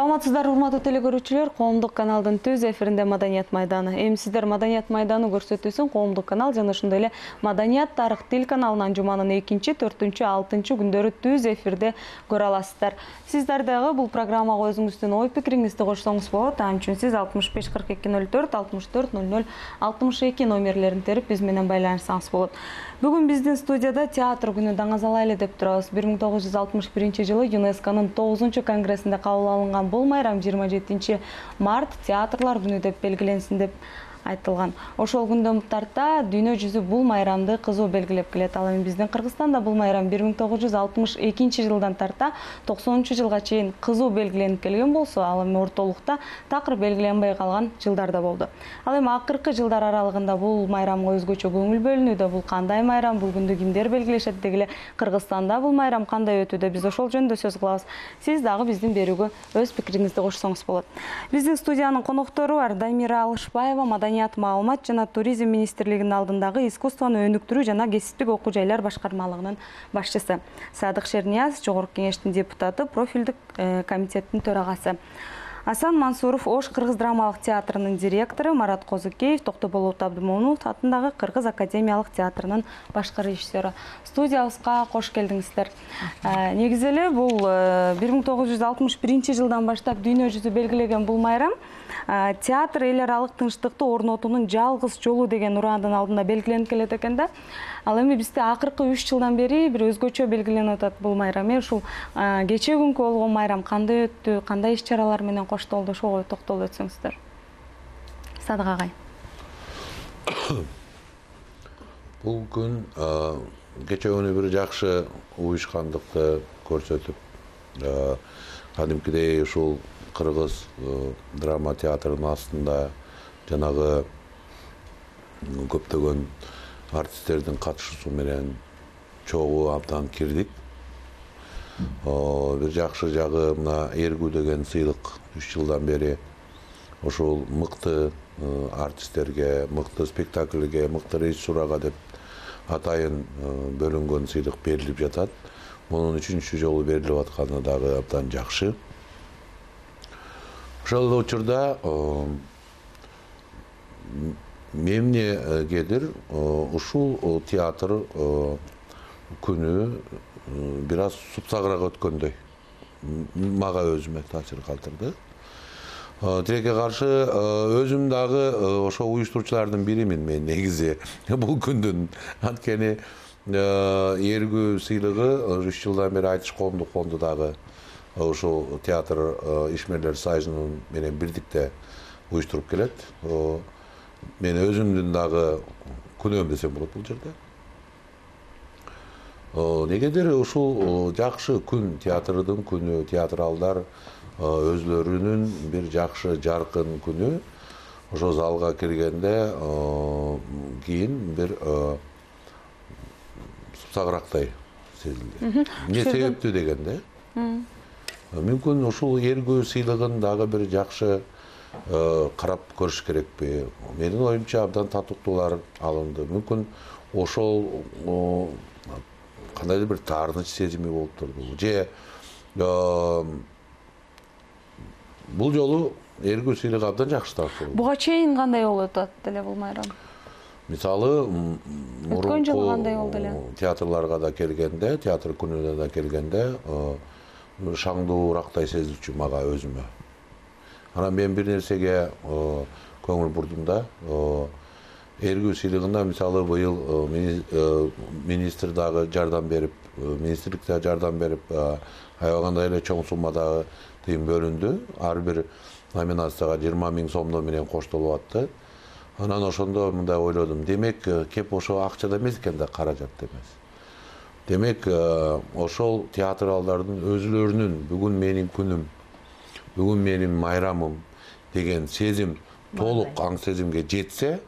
Саламатсыздар, урматтуу телекөрүүчүлөр, коомдук каналдын түз эфиринде Маданият майданы. Эми сиздер Маданият майданы көрсөтүүсүн коомдук канал жана ошондой эле Маданият тарых тил каналынан жуманын 2, 4, 6 күндөрү түз эфирде көрө аласыздар. Сиздер дагы бул программага өзүңүздүн ой пикириңизди кошсоңуз болот. Ан үчүн сиз 65 42 04 64 00 62 номерлерин терип биз менен байланышсаңыз болот. Бүгүн биздин студияда театр күнү даңазалайлы деп турабыз. 1961 жылы ЮНЕСКОнун 9 конгрессинде кабыл алынган бул майрам 27 март театрлар күнү деп белгиленсин деп айтылган. Ошол күндөн тарта дүйнө жүзү бул майрамды кызуу белгилеп келет. Ал эми биздин Кыргызстанда бул майрам 1962 жылдан тарта 90 жылга чейин кызуу белгиленип келген болсо, ал эми ортолукта такыр белгиленбей калган жылдар да болду. Ал эми акыркы жылдар аралыгында бул майрамга өзгөчө көңүл бөлүнүүдө. Бул кандай майрам, бул күндү кимдер белгилешет деги эле Кыргызстанда бул майрам кандай өтүүдө, биз ошол жөнүндө сөз кылабыз. Сиз дагы биздин берүүгө өз пикириңизди кошсоңуз болот. Биздин студиянын коноктору бар Дамира Алышбаева, Маданият маалымат жана туризм министрлигинин алдындагы искусствону өнүктүрүү жана кесиптик окуу жайлар башкармалыгынын башчысы. Садык Шернияз, жогорку кеңештин депутаты, профилдик комитеттин төрагасы. Асан Мансуров, Ош Кыргыз драмалык театрынын директору, Марат Козукеев, Токтоболот Абдымомунов атындагы Кыргыз академиялык театрынын башкы режиссеру. Студиябызга кош келдиңиздер. Негизи эле бул 1961 жылдан баштап дүйнө жүзү белгилеген бул майрам театр эл аралык тынчтыкты орнотуунун жалгыз жолу деген ураандын алдында белгиленип келет экен да. Ал эми бизде акыркы 3 жылдан бери бир өзгөчө белгиленип атат бул майрам. Ушул кечээ күнкү болгон майрам кандай өттү, кандай иш-чаралар менен коштолду, ошого токтолуп өтсөңүздөр. Садык агай. Бул күн кечээ күнү бир жакшы уюшкандыкты көрсөтүп, кадимкидей ушул Кыргыз драма театрынын астында жанагы көптөгөн артисттердин катышуусу менен чогуу абдан кирдик. Бир жакшы жагы мына Эргүү деген сыйлык 3 жылдан бери ошол мыкты артисттерге, мыкты спектакльге, мыкты режиссурага деп атайын бөлүнгөн сыйлык берилип жатат. Мунун 3-чү жолу берилип атканы дагы абдан жакшы. Ошол учурда мемнегедир ушул театр күнү бир аз супсагыраак өткөндөй мага өзүмө таасир калтырды. Тилекке каршы өзүм дагы ошо уюштуруучулардын биримин мен негизи бул күндүн. Анткени Эргүү сыйлыгы 3 жылдан бери Айтыш коомдук фонду дагы ошол театр ишмерлер союзунун менен бирдикте уюштуруп келет. Мен өзүмдүн дагы күнөөм десем болот бул жерде. Негедир ушул жакшы күн, театрдын күнү, театралдар өзлөрүнүн бир жакшы жаркын күнү ошо залга киргенде кийин бир супсагырактай сезилди. Эмне себептүү дегенде мүмкүн ушул Эргүү сыйлыгын дагы бир жакшы карап көрүш керекпи? Менин оюмча абдан татыктуулар алынды. Мүмкүн ошол кандайдыр бир таарыныч сезими болуп турду. Же бул жолу Эргүү сыйлыгы абдан жакшы тартылды. Буга чейин кандай болуп атат эле бул майрам? Мисалы, өткөн жолу кандай болду эле? Театрларга да келгенде, театр күнүнө да келгенде шаңдуурактай сезилчү мага өзүмө. Анан мен бир нерсеге көңүл бурдум да. Эргүү сыйлыгында мисалы быйыл министр дагы жардам берип, министрлик да жардам берип, аябагандай эле чоң суммадагы тыйын бөлүндү. Ар бир номинацияга 20 000 сомдо менен коштолуп атты. Анан ошондо мындай ойлодум. Демек, кеп ошо акчада эмес экен да, каражат эмес. Демек, ошол театралдардын өзүлөрүнүн бүгүн менин күнүм, бүгүн менин майрамым деген сезим толук аң сезимге жетсе,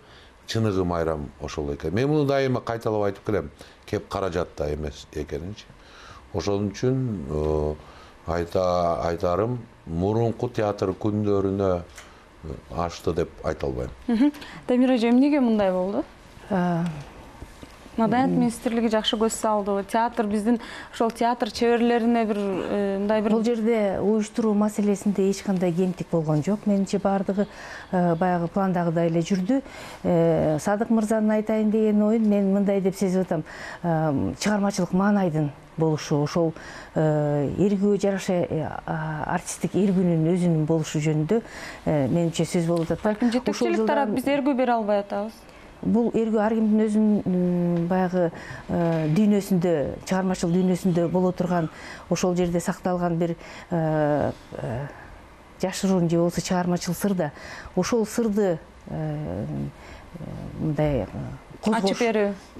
чыныгы майрам ошол экен. Мен муну дайыма кайталап айтып келем, кеп каражатта эмес экенинчи. Ошон үчүн айтарым, мурунку театр күндөрүнө ашты деп айта албайм. Дамира эже, эмнеге мындай болду? Маданият министрлиги жакшы көз салды. Театр биздин ошол театр чеберлерине бир мындай бир бул жерде уюштуруу маселесинде эч кандай кемтик болгон жок. Менимче баардыгы баягы пландагыдай эле жүрдү. Садык мырзанын айтайын деген оюн мен мындай деп сезип атам. Чыгармачылык маанайдын болушу, ошол эргүүгө жараша артисттик эргүүнүн өзүнүн болушу жөнүндө менимче сөз болуп атат. Балким жетекчилик тарап биз эргүү бере албай атабыз. Бул эргүү ар кимдин өзүнүн баягы дүйнөсүндө, чыгармачылык дүйнөсүндө боло турган, ошол жерде сакталган бир жашыруун же болбосо чыгармачыл сыр да. Ошол сырды мындай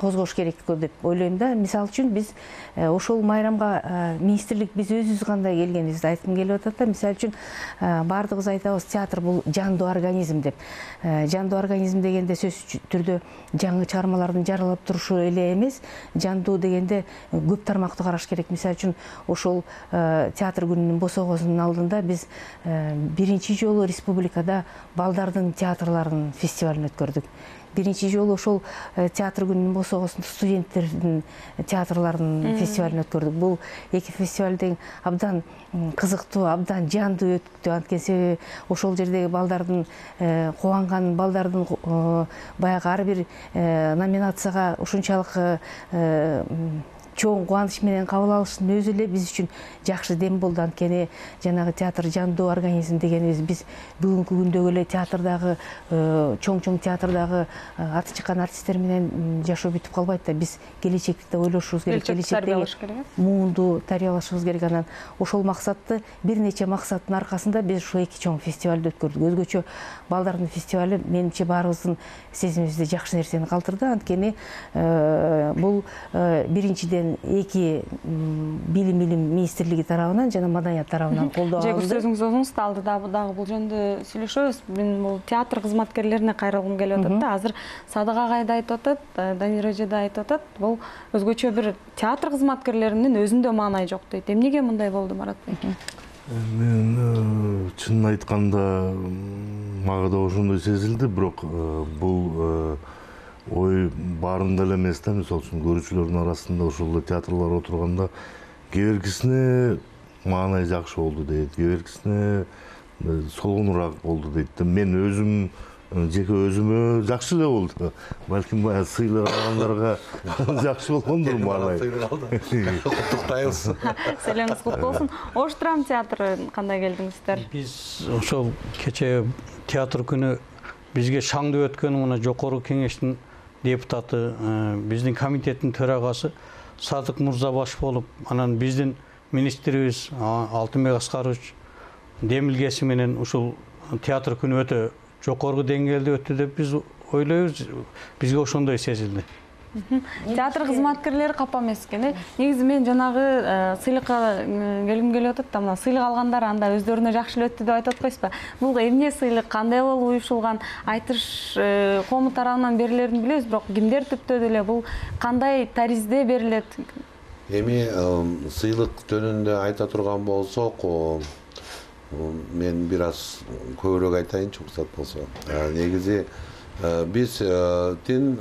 козгош керек деп ойлойм да. Мисалы үчүн биз ошол майрамга министрлик биз өзүбүз кандай келгенибизди айткым келип атат да. Мисалы үчүн баардыгыбыз айтабыз, театр бул жандуу организм деп. Жандуу организм дегенде сөзсүз түрдө жаңы чыгармалардын жаралып турушу эле эмес, жандуу дегенде көп тармактуу караш керек. Мисалы үчүн ошол театр күнүнүн босогосунун алдында биз биринчи жолу республикада балдардын театрларынын фестивалын өткөрдүк. Биринчи жолу ошол театр күнүнүн босогосунда студенттердин театрларынын фестивалын өткөрдүк. Бул эки фестиваль тең абдан кызыктуу, абдан жандуу өттү. Анткени себеби ошол жердеги балдардын кубанган, балдардын баягы ар бир номинацияга ушунчалык чоң кубаныч менен кабыл алышынын өзү эле биз үчүн жакшы дем болду. Анткени жанагы театр жандуу организм дегенибиз биз бүгүнкү күндөгү эле театрдагы чоң театрдагы аты чыккан артисттер менен жашоо бүтүп калбайт да. Биз келечекти ойлошубуз керек, келечекте муунду тарбиялашыбыз керек. Анан ошол максатты бир нече максаттын аркасында биз ушул эки чоң фестивалды өткөрдүк. Өзгөчө балдардын фестивалы менимче баарыбыздын сезимибизде жакшы нерсени калтырды. Анткени бул биринчиден эки билим министрлиги тарабынан жана маданият тарабынан колдоо алынды. Сөзүңүз оңуңузда алды дагы бул жөнүндө сүйлөшөбүз. Мен бул театр кызматкерлерине кайрылгым келип атат да. Азыр Садык агай да айтып атат, Данир эже да айтып атат. Бул өзгөчө бир театр кызматкерлеринин өзүндө маанай жок дейт. Эмнеге мындай болду, Марат Беки? Мен чынын айтканда мага да ошондой сезилди, бирок бул ой баарында эле эмес да. Мисалы үчүн көрүүчүлөрдүн арасында ошол театрлар отурганда кээ биркисине маанай жакшы болду дейт, кээ биркисине солгонураак болду дейт. Мен өзүм жеке өзүмө жакшы эле болду. Балким сыйлык алгандарга жакшы болгондур маанай. Куттуктайбыз. Селеңиз куттуу болсун. Ош драма театры кандай келдиңиздер? Биз ошол кече театр күнү бизге шаңдуу өткөн мына жогорку кеңештин депутаты, биздин комитеттин төрагасы Садык мырза баш болуп, анан биздин министрибиз Алтынбек Аскарович демилгеси менен ушул театр күнү өтө жогорку деңгээлде өттү деп биз ойлойбуз. Бизге ошондой сезилди. Театр кызматкерлери капа эмес экен. Негизи мен жанагы сыйлыкка келгим келип атат да, мына сыйлык алгандар анда өздөрүнө жакшы эле өттү деп айтып атпайсызбы? Бул эмне сыйлык, кандай болуп уюшулган, айтыш коому тарабынан берилерин билебиз, бирок кимдер түптөдү эле, бул кандай таризде берилет? Эми сыйлык жөнүндө айта турган болсок, мен бир аз көбүрөөк айтайынчы, уруксат болсо. Негизи биздин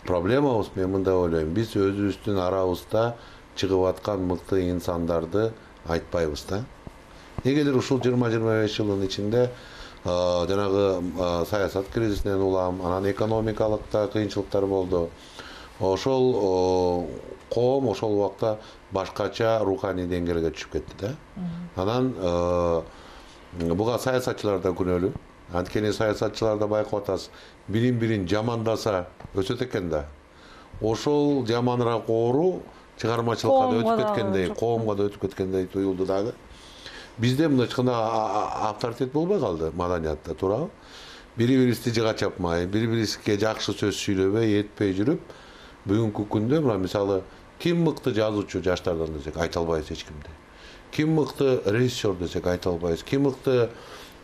проблемабыз, мен мындай ойлойм, биз өзүбүздүн арабызда чыгып аткан мыкты инсандарды айтпайбыз да. Негедир ушул 20-25 жылдын ичинде жанагы саясат кризисинен улам, анан экономикалык да кыйынчылыктар болду. Ошол коом ошол убакта башкача руханий деңгээлге түшүп кетти да. Анан буга саясатчылар да күнөөлүү. Анткени саясатчылар да байкап атасыз, бирин жамандаса өсөт экен да. Ошол жаманыраак оору чыгармачылыкка да өтүп кеткендей, коомго да өтүп кеткендей туюлду дагы. Бизде мындай ачканда авторитет болбой калды маданиятта, туурабы? Бири-бирибизди жыга чапмай, бири-бирибизге жакшы сөз сүйлөбөй, этпей жүрүп, бүгүнкү күндө мына мисалы ким мыкты жазуучу жаштардан десек айта албайбыз эч кимди. Ким мыкты режиссер десек айта албайбыз. Ким мыкты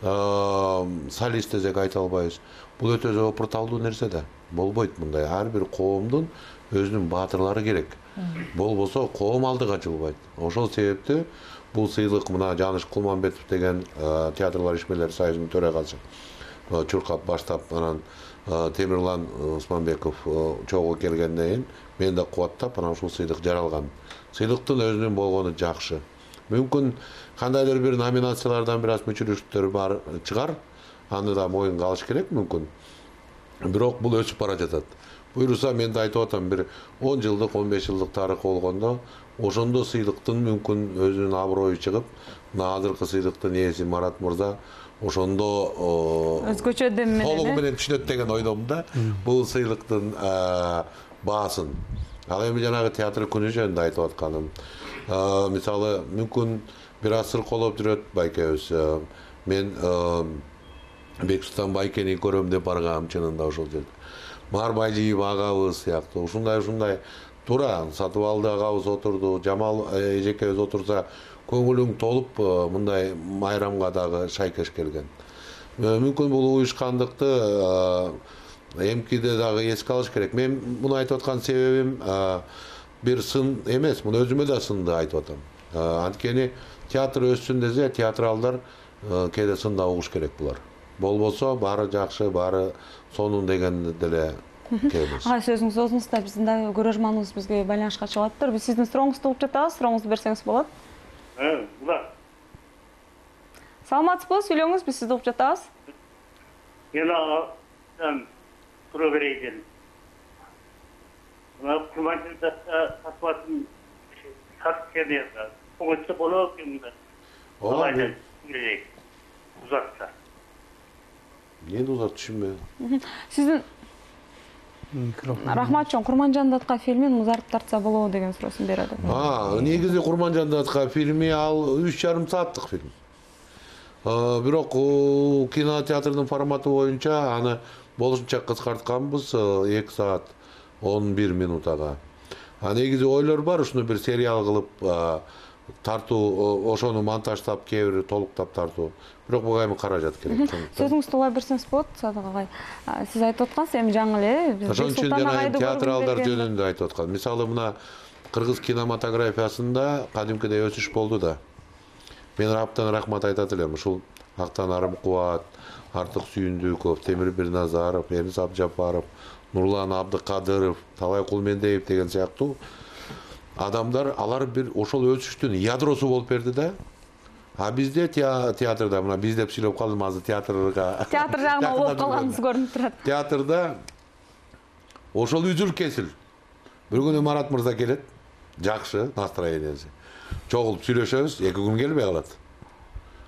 солист десек айта албайбыз. Бул өтө жопурталдуу нерсе да. Болбойт мындай. Ар бир коомдун өзүнүн баатырлары керек. Болбосо коом алдыга жылбайт. Ошол себептен бул сыйлык мына Жаныш Кулманбетов деген театрлар ишмерлери союзунун төрагасы чуркап баштап анан Темирлан Усманбеков чогуу келгенден кийин мен да кубаттап анан ушул сыйлык жаралган. Сыйлыктын өзүнүн болгону жакшы. Мүмкүн кандайдыр бир номинациялардан бир аз мүчүлүштөр бар чыгар. Аны да моюнга алыш керек мүмкүн. Бирок бул өсүп бара жатат. Буйруса мен да айтып атам, бир 10 жылдык, 15 жылдык тарыхы болгондо ошондо сыйлыктын мүмкүн өзүнүн аброю чыгып, мына азыркы сыйлыктын ээси Марат мырза ошондо өзгөчө дем менен толугу менен түшүнөт деген ойдомун да. Бул сыйлыктын баасын. Ал эми жанагы театр күнү жөнүндө айтып атканым. Мисалы, мүмкүн бир аз сыркоолоп жүрөт байкебиз. Мен Бексултан байкени көрөм деп баргам чынында ошол жерде. Марбайлиев агабыз сыяктуу ушундай туура Сатыбалды агабыз отурду, Жамал эжекебиз отурса көңүлүң толуп мындай майрамга дагы шайкеш келген. Мүмкүн бул уюшкандыкты эмкиде дагы эске алыш керек. Мен муну айтып аткан себебим бир сын эмес, муну өзүмө да сынды айтып атам. Анткени театр өссүн десе, театралдар кээде сында угуш керек булар. Болбосо баары жакшы, баары сонун деген деле келебиз. Сөзүңүз озуңузда биздин дагы көрөрманыбыз бизге байланышка чыгып атыптыр. Биз сиздин сурооңузду угуп жатабыз. Сурооңузду берсеңиз болот. Саламатсызбы? Сүйлөңүз, биз сизди угуп жатабыз. Мен суроо берейин. Мына Курманжанда сатыбатын сатып Коңочто болот экен. Ооба. Узатса. Мен узат түшүнбөйм. Сиздин Рахматжон Курманжанда аткан фильмин узартып тартса болобу деген суроосун берет. Негизи Курманжанда аткан фильми ал 3,5 сааттык фильм. Бирок кинотеатрдын форматы боюнча аны болушунча кыскартканбыз 2 саат 11 минутага. Негизи ойлор бар, ушуну бир сериал кылып тартуу, ошону монтаждап, кээ бир толуктап тартуу. Бирок буга эми каражат керек. Сөзүңүздү улай берсеңиз болот, Садык агай. Сиз айтып аткансыз, эми жаңы эле биз ошон үчүн жана театралдар жөнүндө айтып аткан. Мисалы мына кыргыз кинематографиясында кадимкидей өсүш болду да. Мен абдан рахмат айтат элем. Ушул Актан Арымкубат, Артык Сүйүндүков, Темир Бирназаров, Эмис Абжапаров, Нурлан Абдыкадыров, Талай Кулмендеев деген сыяктуу адамдар, алар бир ошол өсүштүн ядросу болуп берди да. Бизде театрда, мына биз деп сүйлөп калдым, азыр театр жагына болуп калганыбыз көрүнүп турат. Театрда ошол үзүл кесил. Бир күнү Марат мырза келет, жакшы настроениясы. Чогулуп сүйлөшөбүз, 2 күн келбей калат.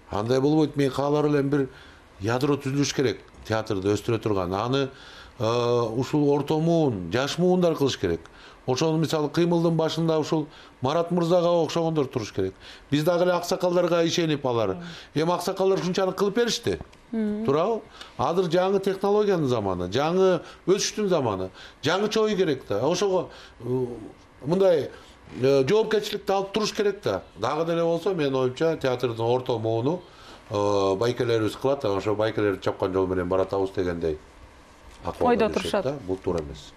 Андай болбойт, мен каалар элем бир ядро түзүлүш керек, театрды өстүрө турган. Аны ушул ортомун, жаш муундар кылыш керек. Ошону мисалы кыймылдын башында ушул Марат мырзага окшогондор туруш керек. Биз дагы эле аксакалдарга ишенип алар. Эми аксакалдар ушунчалык кылып беришти. Туурабы? Азыр жаңы технологиянын заманы, жаңы өсүштүн заманы, жаңыча ой керек да. Ошого мындай жоопкерчиликти алып туруш керек да. Дагы деле болсо, менин оюмча, театрдын орто мууну байкелерибиз кылат, ошо байкелерди чапкан жол менен баратабыз дегендей ойдо турушат. Бул туура эмес.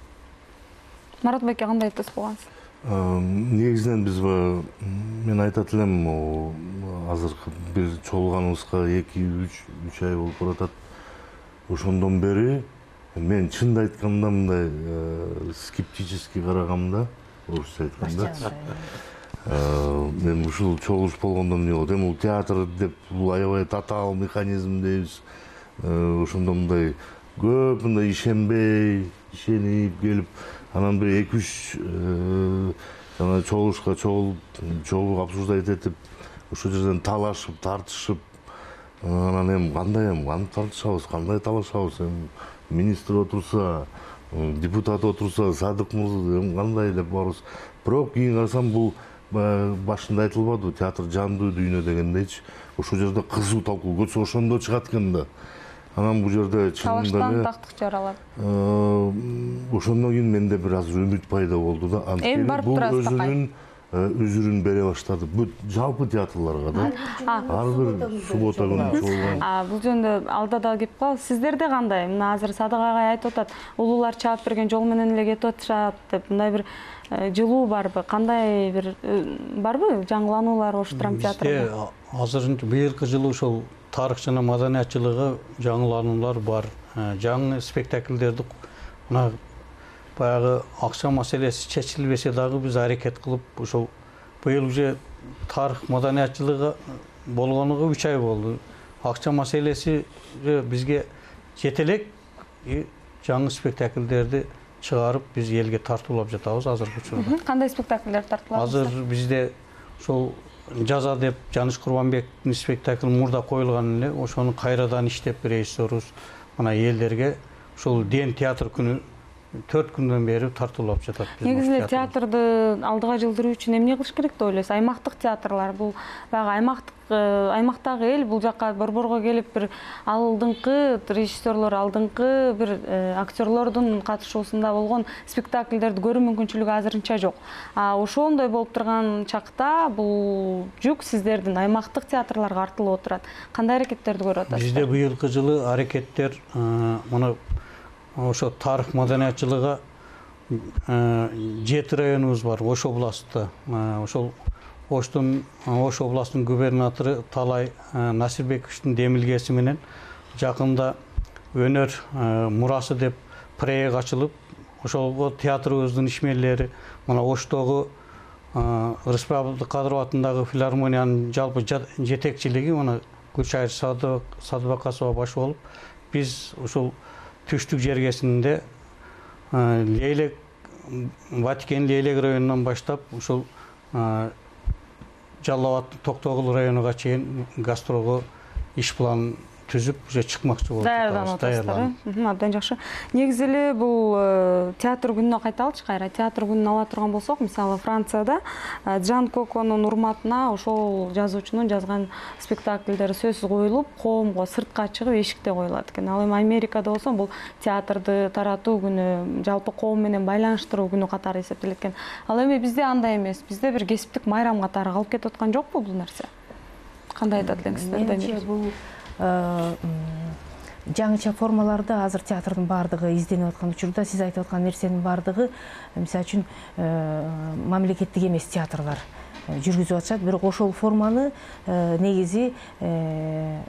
Марат байке кандай айтасыз бугансыз? Негизинен биз мен айтат элем, азыркы бир чогулганыбызга 2-3 ай болуп баратат. Ошондон бери мен чынды айтканда мындай скептически карагам да, орусча айтканда. Мен ушул чогулуш болгондон эмне болот? Эми бул театр деп бул аябай татаал механизм дейбиз. Ошондо мындай көп мындай ишенбей, ишенип келип, анан бир 2-3 жана чогулушка чогулуп обсуждать этип, ошол жерден талашып, тартышып, анан эми кандай тартышабыз, кандай талашабыз? Эми министр отурса, депутат отурса, Садык мырза эми кандай деп барыбыз. Бирок кийин карасам бул башында айтылбады, театр жандуу дүйнө дегендейчи. Ошол жерде кызуу талкуу көтсө ошондо чыгат экен да. Анан бул жерде чынында эле тактык жаралат. Ошондон кийин менде бир аз үмүт пайда болду да. Эми барып турасыз өзүнүн өзүрүн бере баштады. Бүт жалпы театрларга да. Ар бир суббота күнү чогулган. Бул жөнүндө алда дагы кеп калабыз. Сиздерде кандай? Мына азыр Садык агай айтып атат, улуулар чаап берген жол менен эле кетип атышат деп. Мындай бир жылуу барбы? Кандай бир барбы жаңылануулар ош драма театрында? Азырынча быйылкы жылы ошол тарых жана маданиятчылыгы жаңылануулар бар. Жаңы спектакльдерди мына баягы акча маселеси чечилбесе дагы биз аракет кылып ошол быйыл уже тарых маданиятчылыгы болгонуга 3 ай болду. Акча маселеси бизге жете элек, жаңы спектакльдерди чыгарып биз элге тартуулап жатабыз азыркы учурда. Кандай спектакльдер тартылат? Азыр бизде ошол Жаза деп Жаныш Курбанбектин спектакль мурда коюлган эле, ошону кайрадан иштеп режиссерубуз мына элдерге ошол Ден театр күнү 4 күндөн бери тартуулап жатат. Негизи эле театрды алдыга жылдыруу үчүн эмне кылыш керек деп ойлойсуз? Аймактык театрлар бул баягы аймактагы эл бул жакка борборго келип бир алдыңкы режиссерлор, алдыңкы бир актерлордун катышуусунда болгон спектакльдерди көрүү мүмкүнчүлүгү азырынча жок. Ошондой болуп турган чакта бул жүк сиздердин аймактык театрларга артылып отурат. Кандай аракеттерди көрүп атасыздар? Бизде быйылкы жылы аракеттер мына ошо тарых маданиятчылыгы 7 районубуз бар Ош областында. Ошол Ош областынын губернатору Талай Насирбековичтин демилгеси менен жакында өнөр мурасы деп проект ачылып, ошого театрыбыздын ишмерлери мына Оштогу Рыспек Абдыкадыров атындагы филармониянын жалпы жетекчилиги мына Гүлшайыр Садыбакасова баш болуп, биз ушул түштүк жергесинде Лейлек Ватикен Лейлек районунан баштап ушул Жалал Абад Токтогул районуга чейин гастролго иш план түзүп уже чыкмакчы болуп даярданып. Абдан жакшы. Негизи эле бул театр күнүнө кайталычы кайра. Театр күнүн ала турган болсок, мисалы Францияда Жан Коконун урматына ошол жазуучунун жазган спектакльдери сөзсүз коюлуп, коомго сыртка чыгып эшикте коюлат экен. Ал эми Америкада болсо бул театрды таратуу күнү, жалпы коом менен байланыштыруу күнү катары эсептелет экен. Ал эми бизде андай эмес. Бизде бир кесиптик майрам катары калып кетип аткан жокпу бул нерсе? Кандай айтат элеңиздер? Менимче бул жаңыча формаларды азыр театрдын баардыгы изденип аткан учурда сиз айтып аткан нерсенин баардыгы мисалы үчүн мамлекеттик эмес театрлар жүргүзүп атышат, бирок ошол форманы негизи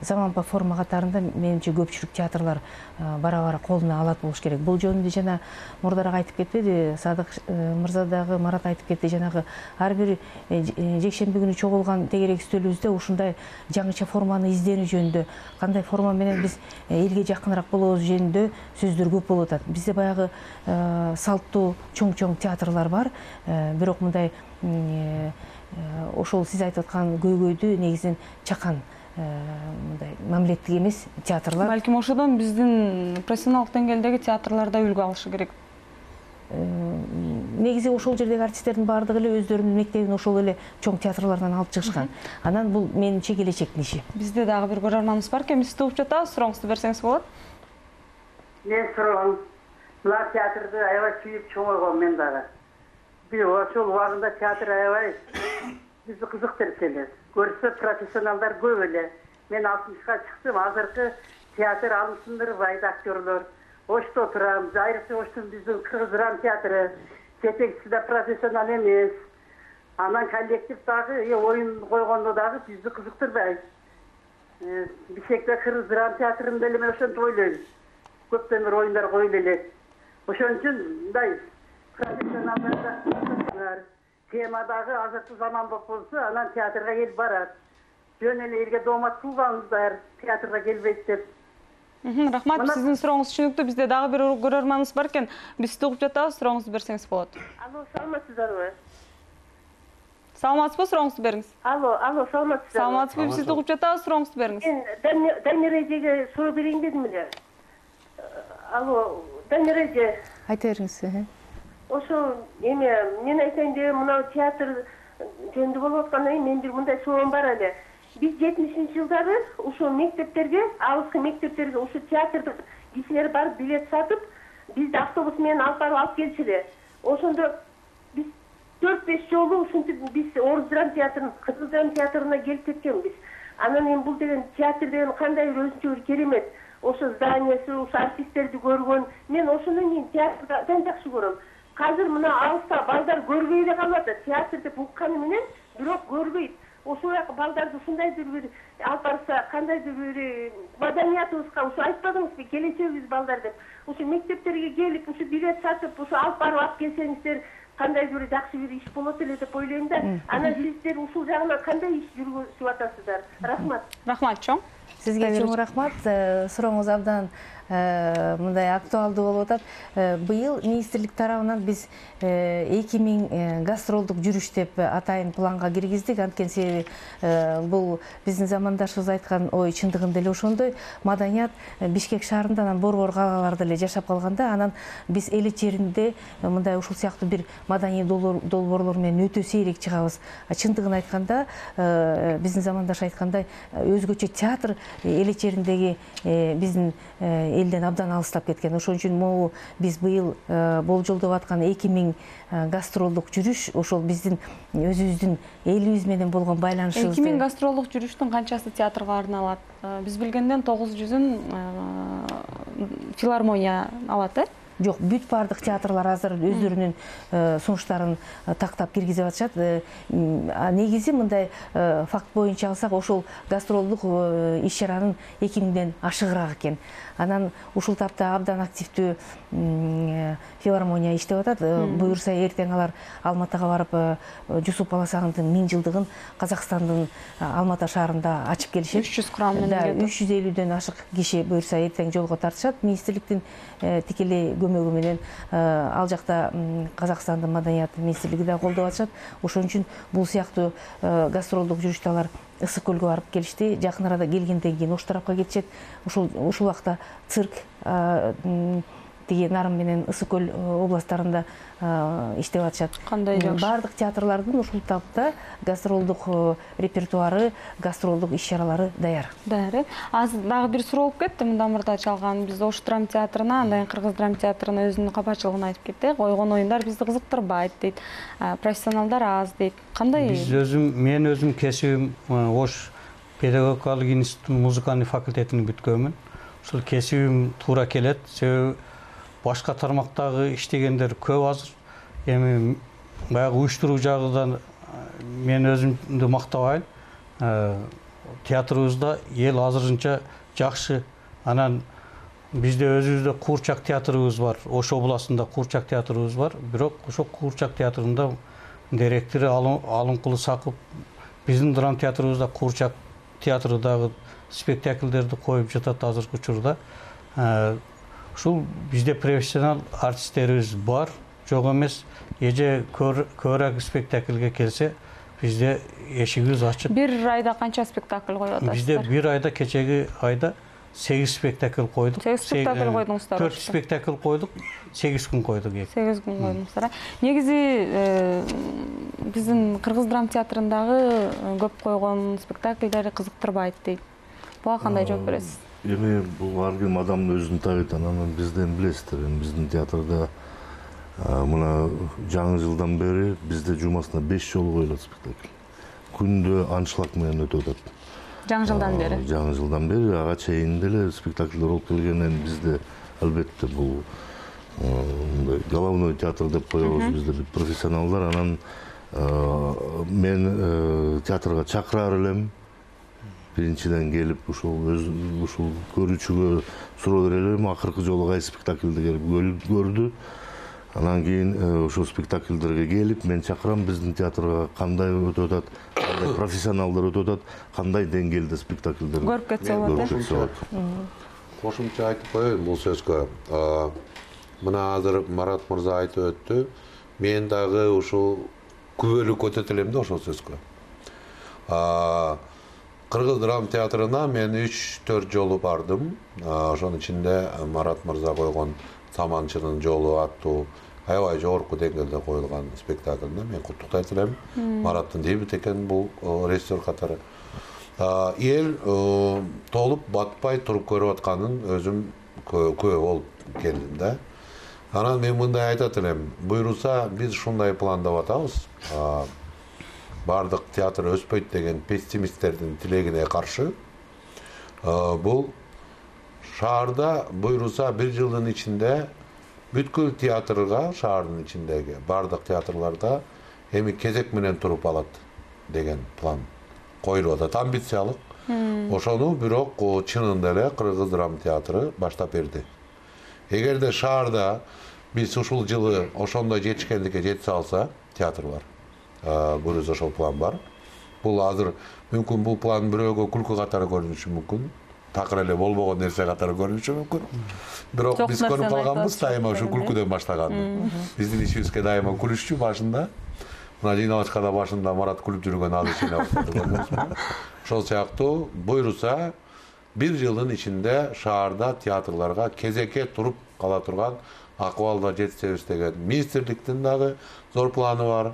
заманбап форма катарында менимче көпчүлүк театрлар бара-бара колуна алат болуш керек. Бул жөнүндө жана мурдараак айтып кетпеди, Садык мырза дагы, Марат айтып кетти, жанагы ар бир жекшемби күнү чогулган тегерек үстөлүбүздө ушундай жаңыча форманы изденүү жөнүндө, кандай форма менен биз элге жакыныраак болобуз жөнүндө сөздөр көп болуп атат. Бизде баягы салттуу чоң театрлар бар, бирок мындай ошол сиз айтып аткан көйгөйдү негизинен чакан мындай мамилеттик эмес театрлар. Балким ошодон биздин профессионалдык деңгээлдеги театрлар да үлгү алышы керек. Негизи ошол жердеги артисттердин баардыгы эле өздөрүнүн мектебин ошол эле чоң театрлардан алып чыгышкан. Анан бул менимче келечектин иши. Бизде дагы бир көрөрманыбыз бар экен, сизди угуп жатабыз, сурооңузду берсеңиз болот. Мен суроом, мына театрды аябай сүйүп чоңойгом мен дагы. Бир ошол убагында театр аябай бизди кызыктырып келет. Көрсө профессионалдар көп эле. Мен 60га чыктым, азыркы театр алымсындырбайт актерлор. Ошто турам, айрыкча Оштун биздин Кыргыз драма театры, жетекчиси да профессионал эмес. Анан коллектив дагы оюн койгондо дагы бизди кызыктырбайт. Бишкекте Кыргыз драма театрында эле мен ошентип ойлойм. Көптөн бир оюндар коюлуп элек. Ошон үчүн мындай профессионалдар темадагы азыркы заманбап болсо, анан театрга келип барат. Жөн эле элге доомат кылбаңыздар, театрга келбейт деп. Рахмат, сиздин сурооңуз түшүнүктүү. Бизде дагы бир көрөрманыбыз бар экен. Биз сизди угуп жатабыз, сурооңузду берсеңиз болот. Алло, саламатсыздарбы? Саламатсызбы, сурооңузду бериңиз. Алло, саламатсыздарбы? Саламатсызбы, биз сизди угуп жатабыз, сурооңузду бериңиз. Мен Даниреге суроо берейин дедим эле. Алло, Даниреге. Айта бериңиз. Ошо эме мен айтайын деп мына театр жөнүндө болуп аткандан кийин мен бир мындай суроом бар эле. Биз 70-жылдары ушул мектептерге, алыскы мектептерге ушул театрдын кишилер барып билет сатып, бизди автобус менен алып келчү. Ошондо биз 4-5 жолу ушинтип биз Орус драма театрынын, Кыргыз драма театрына келип кеткенбиз. Анан эми бул деген театр деген кандай өзүнчө бир керемет. Ошо зданиясы, ошо артисттерди көргөн. Мен ошондон кийин театрды абдан жакшы көрөм. Азыр мына алыста балдар көрбөй эле калып атат. Театр деп укканы менен, бирок көрбөйт. ошол балдарды ушундайдыр бир алып барса, кандайдыр бир маданиятыбызга ушу айтпадыңызбы, келечегибиз балдар деп. Ушу мектептерге келип, ушу билет сатып, ушу алып барып алып келсеңиздер, кандайдыр бир жакшы бир иш болот эле деп ойлойм да. Анан сиздер ушул жагынан кандай иш жүргүзүп атасыздар? Рахмат. Рахмат чоң. Сизге чоң рахмат. Сурооңуз абдан мындай актуалдуу болуп атат. Быйыл министрлик тарабынан биз 2000 гастролдук жүрүш деп атайын планга киргиздик. Анткени себеби бул биздин замандашыбыз айткан ой чындыгында эле ошондой. Маданият Бишкек шаарында, анан борбор калаларда эле жашап калганда, анан биз эл ичеринде мындай ушул сыяктуу бир маданий долбоорлор менен өтө сейрек чыгабыз. Чындыгын айтканда, биздин замандаш айткандай, өзгөчө театр эл ичериндеги биздин элден абдан алыстап кеткен. Ошон үчүн могу биз быйыл болжолдоп аткан 2000 гастролдук жүрүш ошол биздин өзүбүздүн элибиз менен болгон байланышыбызды. 2000 гастролдук жүрүштүн канчасы театрга арналат? Биз билгенден 900-ун филармония алат, Жок, бүт бардык театрлар азыр өздөрүнүн сунуштарын тактап киргизип атышат. Негизи мындай факт боюнча алсак, ошол гастролдук иш-чаранын 2000ден ашыгыраак экен. Анан ушул тапта абдан активдүү филармония иштеп атат. Буюрса эртең алар Алматыга барып Жусуп Баласагындын 1000 жылдыгын Казакстандын Алматы шаарында ачып келишет. 300 курам менен 350дөн ашык киши буюрса эртең жолго тартышат. Министрликтин тикелей көмөгү менен ал жакта Казакстандын маданият министрлиги да колдоп атышат. Ошон үчүн бул сыяктуу гастролдук жүрүштө алар Ысык көлгө барып келишти. Жакын арада келгенден кийин ош тарапка кетишет. Ушул убакта цирк тиги Нарын менен Ысык көл областтарында иштеп атышат. Кандай жакшы. Бардык театрлардын ушул тапта гастролдук репертуары, гастролдук иш-чаралары даяр. Даяр. Азыр дагы бир суроо болуп кетти. Мындан мурда чалган биз Ош драма театрына, андан Кыргыз драма театрына өзүнүн капачылыгын айтып кетти. Койгон оюндар бизди кызыктырбайт дейт. Профессионалдар аз дейт. Кандай? Мен өзүм кесибим Ош педагогикалык институттун музыкалык факультетин бүткөнмүн. Ушул кесибим туура келет. Себеби башка тармактагы иштегендер көп азыр. Эми баягы уюштуруу жагынан мен өзүмдү мактабайм. Театрыбызда эл азырынча жакшы. Анан бизде өзүбүздө Куурчак театрыбыз бар. Ош областында Куурчак театрыбыз бар. Бирок ошол Куурчак театрында директору Алынкулы Сакып биздин драма театрыбызда Куурчак театрындагы спектакльдерди коюп жатат азыркы учурда. Ушул бизде профессионал артисттерибиз бар, жок эмес. Эже көбүрөөк спектакльге келсе, бизде эшигибиз ачык. Бир айда канча спектакль коюп атасыздар? Бизде бир айда, кечеги айда 8 спектакль койдук. 8 спектакль койдуңуздар. 4 спектакль койдук, 8 күн койдук. 8 күн койдуңуздар. Негизи биздин Кыргыз драма театрындагы көп койгон спектакльдер кызыктырбайт дейт. Буга кандай жооп бересиз? Эми бул ар ким адамдын өзүнүн табиети. Анан бизден билесиздер, биздин театрда мына жаңы жылдан бери бизде жумасына 5 жолу коюлат спектакль. Күндө аншлаг менен өтүп атат. Жаңы жылдан бери. Жаңы жылдан бери ага чейин деле спектакльдер болуп келгенден бизде албетте бул головной театр деп коебуз бизде профессионалдар. Анан мен театрга чакырар элем. Биринчиден келип ушул көрүүчүгө суроо берер элем. Акыркы жолу кайсы спектакльди келип көрдү. Анан кийин ошол спектакльдерге келип мен чакырам биздин театрга кандай өтүп атат, кандай профессионалдар өтүп атат, кандай деңгээлде спектакльдер көрүп кетсе болот. Кошумча айтып коеюн бул сөзгө. Мына азыр Марат мырза айтып өттү. Мен дагы ушул күбөлүк көтөтө элем да ошол сөзгө. Кыргыз драма театрына мен 3-4 жолу бардым. Ошонун ичинде Марат мырза койгон Саманчынын жолу аттуу аябай жогорку деңгээлде коюлган спектакльне мен куттуктайт элем. Мараттын дебют экен бул режиссер катары. Эл толуп батпай туруп көрүп атканын өзүм күбө болуп келдим да. Анан мен мындай айтат элем, буйруса биз ушундай пландап атабыз. Бардык театр өспөйт деген пессимисттердин тилегине каршы бул шаарда буйруса 1 жылдын ичинде бүткүл театрга, шаардын ичиндеги бардык театрларда эми кезек менен туруп алат деген план коюлуп атат, амбициялык. Ошону бирок чынында эле Кыргыз драма театры баштап берди. Эгерде шаарда биз ушул жылы ошондой жетишкендикке жете алса, театрлар бұрыз ошол план бар. Бул азыр мүмкүн бул план бирөөгө күлкү катары көрүнүшү мүмкүн, такыр эле болбогон нерсе катары көрүнүшү мүмкүн. Бирок биз көрүп калганбыз дайыма ушу күлкүдөн баштаганды. Биздин ишибизге дайыма күлүшчү башында. Мына жыйналышка да башында Марат күлүп жүргөн азыр кичине көрдүңүзбү? Ошол сыяктуу буйруса бир жылдын ичинде шаарда театрларга кезекке туруп кала турган акыбалда жетсебиз деген министрликтин дагы зор планы бар.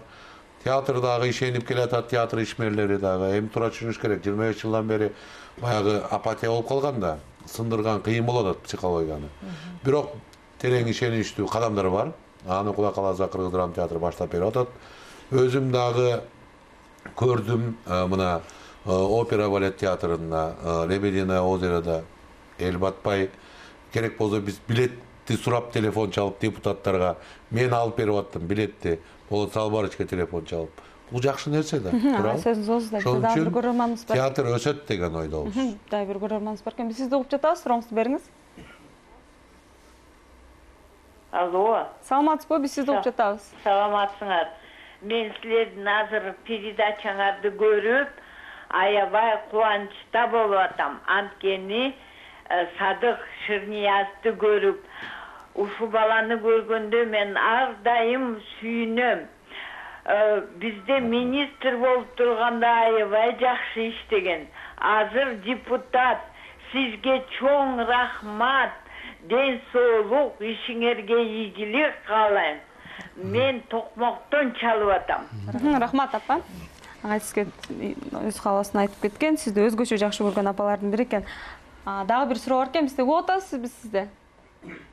Театр дагы ишенип келатат, театр ишмерлери дагы. Эми туура түшүнүш керек, 25 жылдан бери баягы апатия болуп калганда, сындырган кыйын болот атат психологияны. Бирок терең ишеничтүү кадамдар бар. Аны Кудай кааласа Кыргыз драма театры баштап берип атат. Өзүм дагы көрдүм мына опера балет театрында, Лебединое озерода эл батпай, керек болсо биз билетти сурап телефон чалып депутаттарга мен алып берип аттым билетти. Болот Салбарычке телефон чалып. Бул жакшы нерсе да. Сөзүңүз озда, биз дагы бир көрөрманыбыз бар. Театр өсөт деген ойдобуз. Дагы бир көрөрманыбыз бар экен. Биз сизди угуп жатабыз, сурооңузду бериңиз. Алло. Саламатсызбы? Биз сизди угуп жатабыз. Саламатсыңар. Мен силердин азыр передачаңарды көрүп, аябай кубанычта болуп атам. Анткени Садык Шырниязды көрүп, ушу баланы көргөндө мен ар дайым сүйүнөм. Бизде министр болуп турганда аябай жакшы иштеген. Азыр депутат. Сизге чоң рахмат. Ден соолук, ишиңерге ийгилик каалайм. Мен токмоктон чалып атам. Рахмат апа. Ага сизге өз кааласын айтып кеткен. Сизди өзгөчө жакшы көргөн апалардын бири экен. Дагы бир суроо бар экен. Бизде угуп атасыз, биз сизде.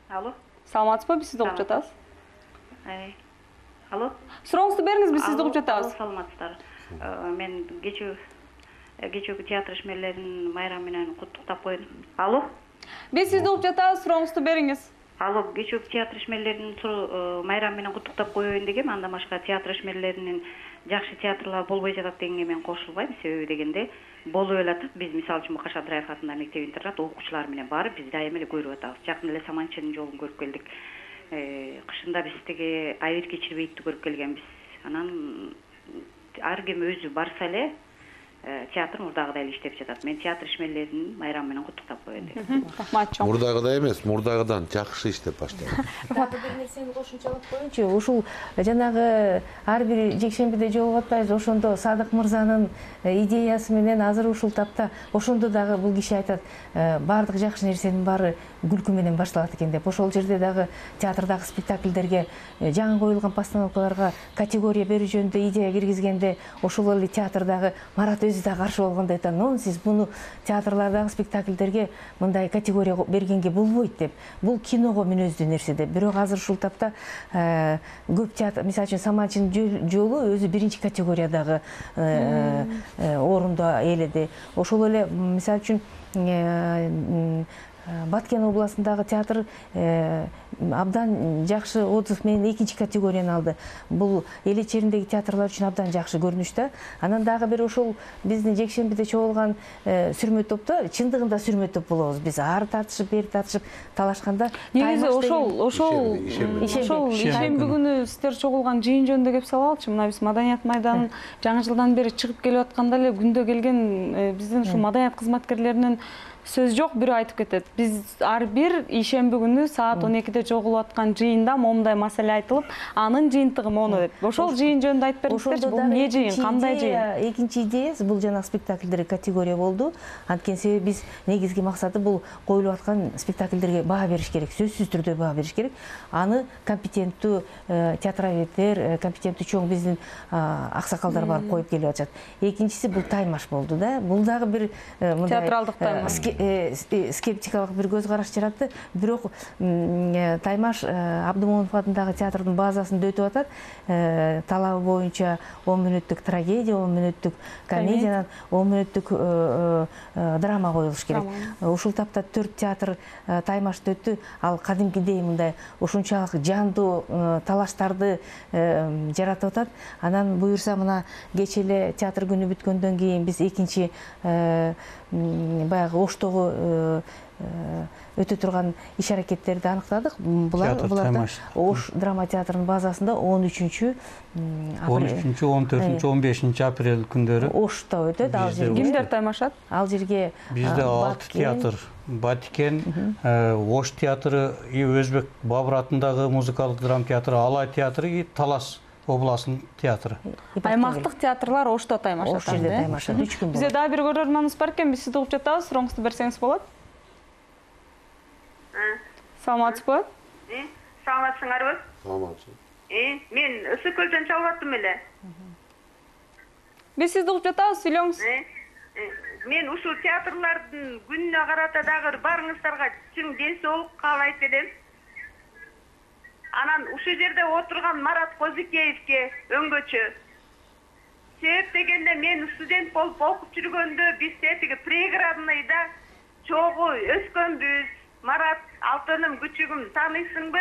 Алло. Саламатсызбы? Биз сизди угуп жатабыз. Алло. Сурооңузду бериңиз, биз сизди угуп жатабыз. Саламатсыздар. Мен кечээки театр ишмерлеринин майрамы менен куттуктап коеюн. Алло. Биз сизди угуп жатабыз, сурооңузду бериңиз. Алло, кечээки театр ишмерлеринин майрамы менен куттуктап коеюн дегем. Андан башка театр ишмерлеринин жакшы театрлар болбой жатат дегенге мен кошулбайм. Себеби дегенде болуп элатат. Биз мисалы үчүн Каша Абдраев атындагы мектеп интернат окуучулар менен барып биз дайыма эле көрүп атабыз. Жакын эле Саманчынын жолун көрүп келдик. Кышында биз тиги Айбек Кечирбеевди көрүп келгенбиз. Анан ар ким өзү барса эле театр мурдагыдай эле иштеп жатат. Мен театр ишмерлеринин майрамы менен куттуктап коеюн дейм. Рахмат чоң. Мурдагыдай эмес, мурдагыдан жакшы иштеп баштайм. Дагы бир нерсени кошумчалап коеюнчу. Ушул жанагы ар бир жекшембиде жолугуп атпайбыз, ошондо Садык мырзанын идеясы менен азыр ушул тапта ошондо дагы бул киши айтат, баардык жакшы нерсенин баары күлкү менен башталат экен деп. Ошол жерде дагы театрдагы спектакльдерге, жаңы коюлган постановкаларга категория берүү жөнүндө идея киргизгенде, ошол эле театрдагы Марат өзү да каршы болгондой айтат. Сиз буну театрлардагы спектакльдерге мындай категория бергенге болбойт деп. Бул киного мүнөздүү нерсе деп. Бирок азыр ушул тапта көп театр, мисалы үчүн Саманчынын жолу өзү биринчи категориядагы орунду ээледи. Ошол эле мисалы үчүн Баткен областындагы театр абдан жакшы отзыв менен экинчи категорияны алды. Бул эл ичерindеги театрлар үчүн абдан жакшы көрүнүштө. Анан дагы бир ошол биздин жекшембиде чогулган сүрмө топто чындыгында сүрмө топ болобуз. Биз ары тартышып, бери тартышып талашканда негизи ошол ишемби күнү сиздер чогулган жыйын жөнүндө кеп салалычы. Мына биз Маданият майданын жаңы жылдан бери чыгып келип атканда эле күндө келген биздин ушул маданият кызматкерлеринин сөз жок, бирөө айтып кетет. Биз ар бир ишемби күнү саат 12-де чогулуп аткан жыйында момундай маселе айтылып, анын жыйынтыгы мону деп. Ошол жыйын жөнүндө айтып бериңизчи, бул эмне жыйын, кандай жыйын? Экинчи идеясы бул жана спектакльдерге категория болду. Анткени себеби биз негизги максаты бул коюлуп аткан спектакльдерге баа бериш керек, сөзсүз түрдө баа бериш керек. Аны компетенттүү театроведтер, компетенттүү чоң биздин аксакалдар барып коюп келип атышат. Экинчиси бул таймаш болду да. Бул дагы бир театралдык таймаш. скептикалык бир көз караш жаратты. Бирок Таймаш Абдымомунов атындагы театрдын базасында өтүп атат. Талабы боюнча 10 мүнөттүк трагедия, 10 мүнөттүк комедиянан 10 мүнөттүк драма коюлуш керек. Ушул тапта 4 театр Таймашта өттү. Ал кадимкидей мындай ушунчалык жандуу талаштарды жаратып атат. Анан буюрса мына кечээ эле театр күнү бүткөндөн кийин биз экинчи баягы Оштогу өтө турган иш аракеттерди аныктадык. Буларда Ош драма театрынын базасында 13-14, 15 апрель күндөрү Ошто өтөт. Ал жерге кимдер таймашат? Ал жерге бизде 6 театр, Батикен, Ош театры, Өзбек Бабыр атындагы музыкалык драма театры, Алай театры и Талас областынын театры. Аймактык театрлар Ошто таймашат. Ош жерде таймашат 3 күн. Бизде дагы бир көрөрманыбыз бар экен, биз сизди угуп жатабыз, сурооңузду берсеңиз болот. Саламатсызбы? Саламатсыңарбы? Саламатсыз. Мен ысык көлдөн чалып аттым эле. Биз сизди угуп жатабыз, сүйлөңүз. Мен ушул театрлардын күнүнө карата дагы барыңыздарга чың ден соолук каалайт элем. Анан ушул жерде отурган Марат Козикеевке өңгөчө. Себеп дегенде мен студент болуп окуп жүргөндө биз тиги преградныйда чогуу өскөнбүз. Марат, алтыным, күчүгүм, тааныйсыңбы?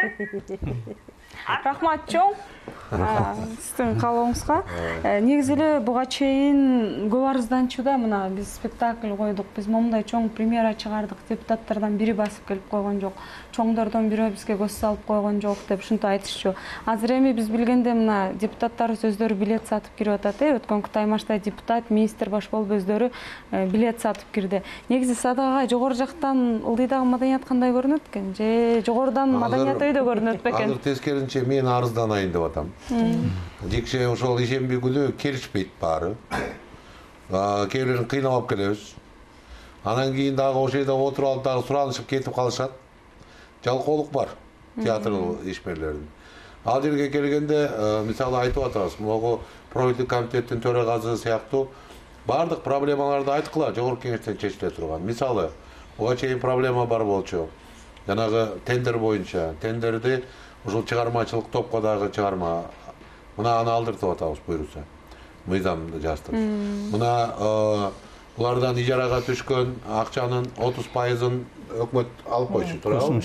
Рахмат чоң. Сиздин каалооңузга. Негизи эле буга чейин көп арызданчуда мына биз спектакль койдук. Биз момундай чоң премьера чыгардык. Депутаттардан бири басып келип койгон жок. Чоңдордон бирөө бизге көз салып койгон жок деп ушинтип айтышчу. Азыр эми биз билгенде мына депутаттарыбыз өздөрү билет сатып кирип атат. Өткөнкү Таймашта депутат, министр баш болуп өздөрү билет сатып кирди. Негизи Садыгага жогору жактан ылдыйдагы маданият кандай көрүнөт экен? Же жогорудан маданият өйдө көрүнөт бекен? Азыр тескеринче мен арызданайын деп атам. Жекше ошол ишемби күнү келишпейт баары. Кээ бирлерин кыйнап алып келебиз. Анан кийин дагы ошол жерде отуруп алып дагы суранышып кетип калышат. Жалкоолук бар театр ишмерлеринин. Ал жерге келгенде мисалы айтып атабыз, могу профилдик комитеттин төрагасы сыяктуу баардык проблемаларды айткыла жогорку кеңештен чечиле турган. Мисалы, буга чейин проблема бар болчу. Жанагы тендер боюнча, тендерди ушул чыгармачылык топко дагы чыгарма. Мына аны алдыртып атабыз буюрса. Мыйзамды жаздырып. Мына булардан ижарага түшкөн акчанын 30%-ын өкмөт алып койчу туурабы?